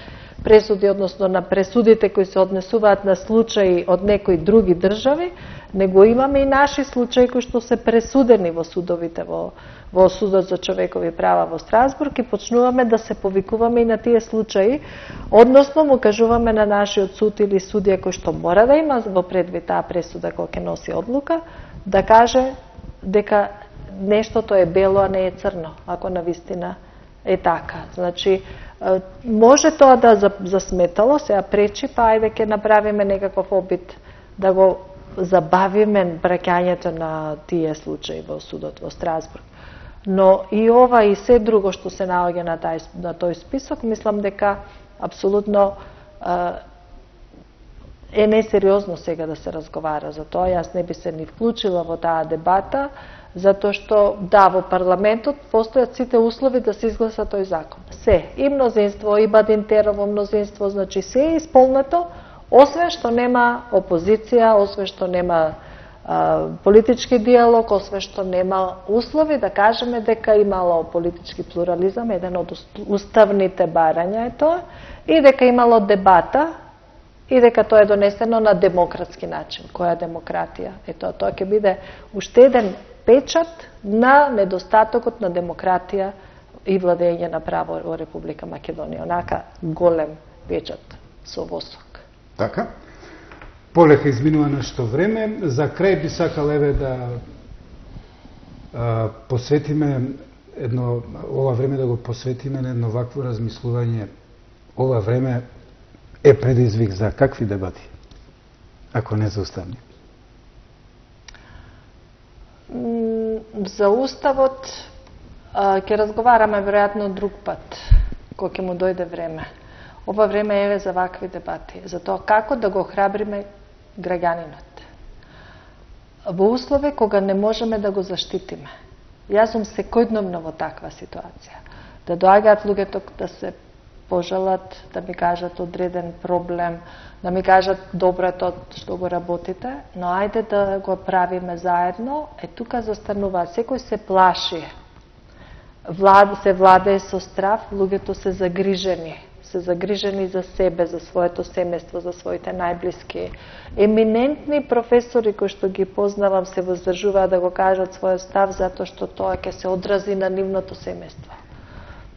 пресуди, односно на пресудите кои се однесуваат на случаи од некои други држави, него имаме и наши случаи кои што се пресудени во судовите, во, во Судот за човекови права во Страсбург и почнуваме да се повикуваме и на тие случаи, односно му кажуваме на нашиот суд или судија кој што мора да има во предвид таа пресуда која ќе носи одлука, да каже дека нештото е бело, а не е црно, ако навистина е така. Значи, може тоа да засметало, сега пречи, па ајде ќе направиме некаков обид да го забавиме браќањето на тие случаи во судот во Страсбург. Но и ова и се друго што се наоѓа на, тај, на тој список, мислам дека апсолутно е несериозно сега да се разговара за тоа. Јас не би се ни вклучила во таа дебата, затоа што, да, во парламентот постојат сите услови да се изгласа тој закон. Се, и мнозинство, и Бадинтерово мнозинство, значи се е исполнето, освен што нема опозиција, освен што нема а, политички диалог, освен што нема услови да кажеме дека имало политички плурализам, еден од уставните барања е тоа, и дека имало дебата, и дека тоа е донесено на демократски начин. Која демократија? Е тоа, тоа ќе биде уште еден печат на недостатокот на демократија и владење на право во Република Македонија. Онака голем печат со восок. Така. Полека изминува нешто време. За крај би сакал еве да а, посветиме едно, ова време да го посветиме на едно вакво размислување. Ова време е предизвик за какви дебати, ако не за уставни? За уставот ќе разговараме веројатно друг пат, кој ќе му дојде време. Ова време е за вакви дебати, за тоа како да го храбриме граѓанинот. Во услови кога не можеме да го заштитиме. Јас сум секојдневно во таква ситуација. Да доаѓаат луѓето да се пожелат, да ми кажат одреден проблем, да ми кажат добро е тоа што го работите, но ајде да го правиме заедно. Е тука застанува, секој се плаши. Влад, се владее со страв, луѓето се загрижени. Се загрижени за себе, за своето семејство, за своите најблиски. Еминентни професори кои што ги познавам се воздржуваат да го кажат својот став затоа што тоа ќе се одрази на нивното семејство.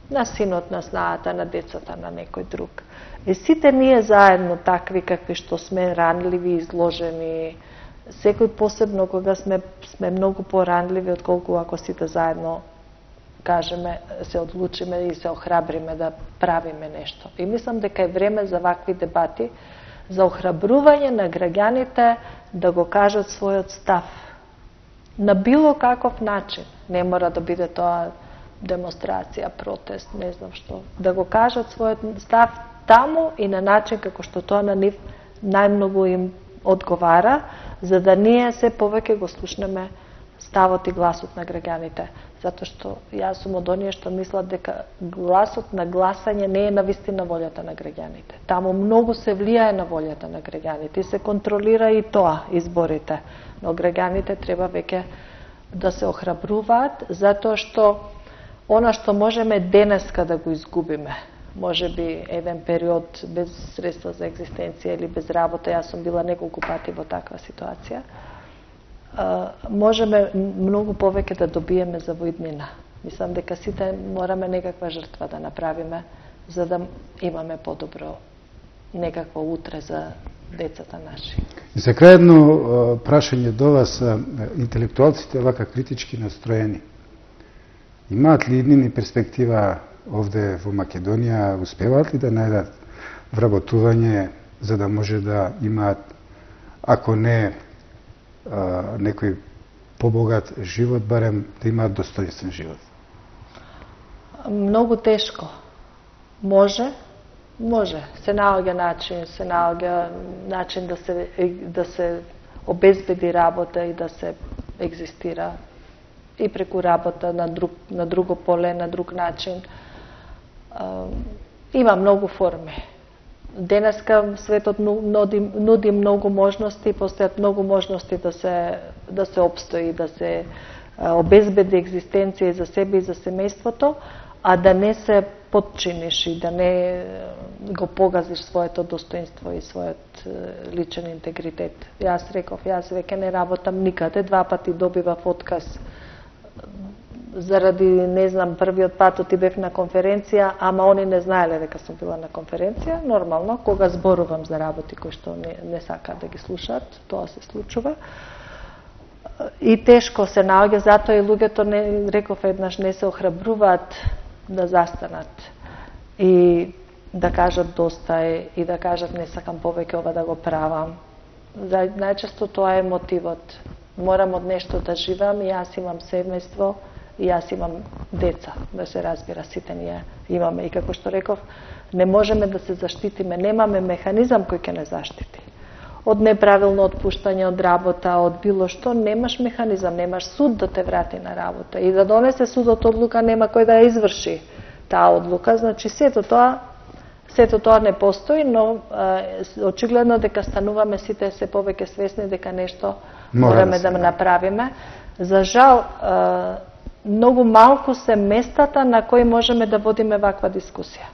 На синот, на снаата, на децата, на некој друг. И сите ние заедно такви какви што сме ранливи, изложени, секој посебно кога сме, сме многу поранливи отколку ако сите заедно кажеме, се одлучиме и се охрабриме да правиме нешто. И мислам дека е време за вакви дебати, за охрабрување на граѓаните да го кажат својот став. На било каков начин. Не мора да биде тоа демонстрација, протест, не знам што. Да го кажат својот став таму и на начин како што тоа на нив најмногу им одговара, за да ние се повеќе го слушнеме ставот и гласот на граѓаните. Затоа што јас сум од оние што мислат дека гласот на гласање не е навистина волјата на граѓаните. Таму многу се влијае на волјата на граѓаните и се контролира и тоа, изборите. Но граѓаните треба веќе да се охрабруваат, затоа што она што можеме денеска да го изгубиме, може би еден период без средства за екзистенција или без работа, јас сум била неколку пати во таква ситуација, можеме многу повеќе да добиеме за воиднина. Мислам дека сите мораме некаква жртва да направиме за да имаме подобро некакво утре за децата наши. И за крај едно прашање до вас, интелектуалците вака критички настроени. Имаат ли иднини перспектива овде во Македонија, успеваат ли да најдат вработување за да може да имаат, ако не а, некој побогат живот, барем да имаат достоинствен живот? Многу тешко. Може, Може, се наоѓа начин, се наоѓа начин да се да се обезбеди работа и да се екзистира и преку работа на друг на друго поле, на друг начин. Има многу форми. Денеска светот нуди, нуди многу можности, постојат многу можности да се да се опстои, да се обезбеди екзистенција за себе и за семејството, а да не се подчиниш и да не го погазиш своето достоинство и својот личен интегритет. Јас реков, јас веќе не работам никаде, два пати добивав отказ заради, не знам, првиот пат оти бев на конференција, ама они не знаеле дека сум била на конференција. Нормално, кога зборувам за работи кои што не, не сакаат да ги слушаат, тоа се случува. И тешко се наоѓа, затоа и луѓето, не, реков еднаш, не се охрабруваат да застанат и да кажат доста е, и да кажат не сакам повеќе ова да го правам. За, најчесто тоа е мотивот. Морам од нешто да живам и јас имам семејство и јас имам деца, да се разбира, сите ние имаме. И како што реков, не можеме да се заштитиме, немаме механизам кој ќе не заштити. Од неправилно отпуштање од работа, од било што, немаш механизам, немаш суд да те врати на работа. И да донесе судот одлука, нема кој да ја изврши таа одлука. Значи, сето тоа, сето тоа не постои, но е, очигледно дека стануваме сите се повеќе свесни дека нешто мораме да направиме. За жал, е, многу малку се местата на кои можеме да водиме ваква дискусија.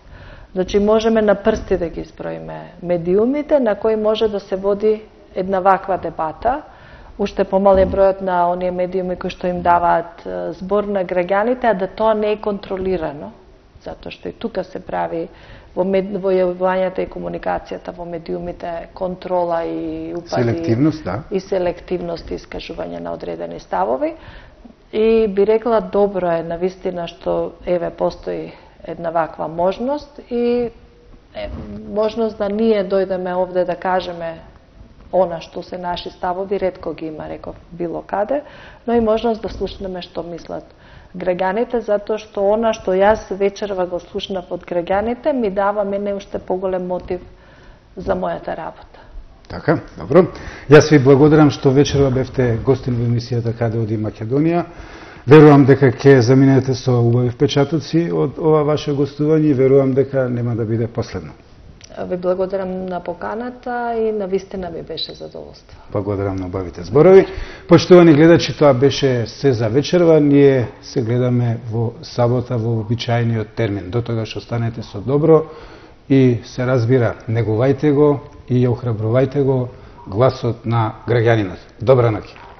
Значи, можеме на прсти да ги изброиме медиумите на кои може да се води една ваква дебата. Уште помал е бројот на оние медиуми кои што им даваат збор на граѓаните, а да тоа не е контролирано, затоа што и тука се прави во, мед... во јавувањата и комуникацијата во медиумите контрола и упади селективност, да. И селективност и искажување на одредени ставови. И би рекла, добро е навистина што еве постои една ваква можност и е, можност да ние дојдеме овде да кажеме она што се наши ставови, ретко ги има, реков, било каде, но и можност да слушнеме што мислат граѓаните, затоа што она што јас вечерва го слушнав од граѓаните ми дава мене уште поголем мотив за мојата работа. Така, добро. Јас ви благодарам што вечерва бевте гостин во емисијата Каде оди Македонија. Верувам дека ќе заминете со убави впечатоци од ова ваше гостување и верувам дека нема да биде последно. Ви благодарам на поканата и на вистина ми беше задоволство. Благодарам на убавите зборови. Поштовани гледачи, тоа беше се за вечерва. Ние се гледаме во сабота во обичајниот термин. До тогаш останете со добро и се разбира, негувајте го и ја охрабрувајте го гласот на граѓанинот. Добра ноќ.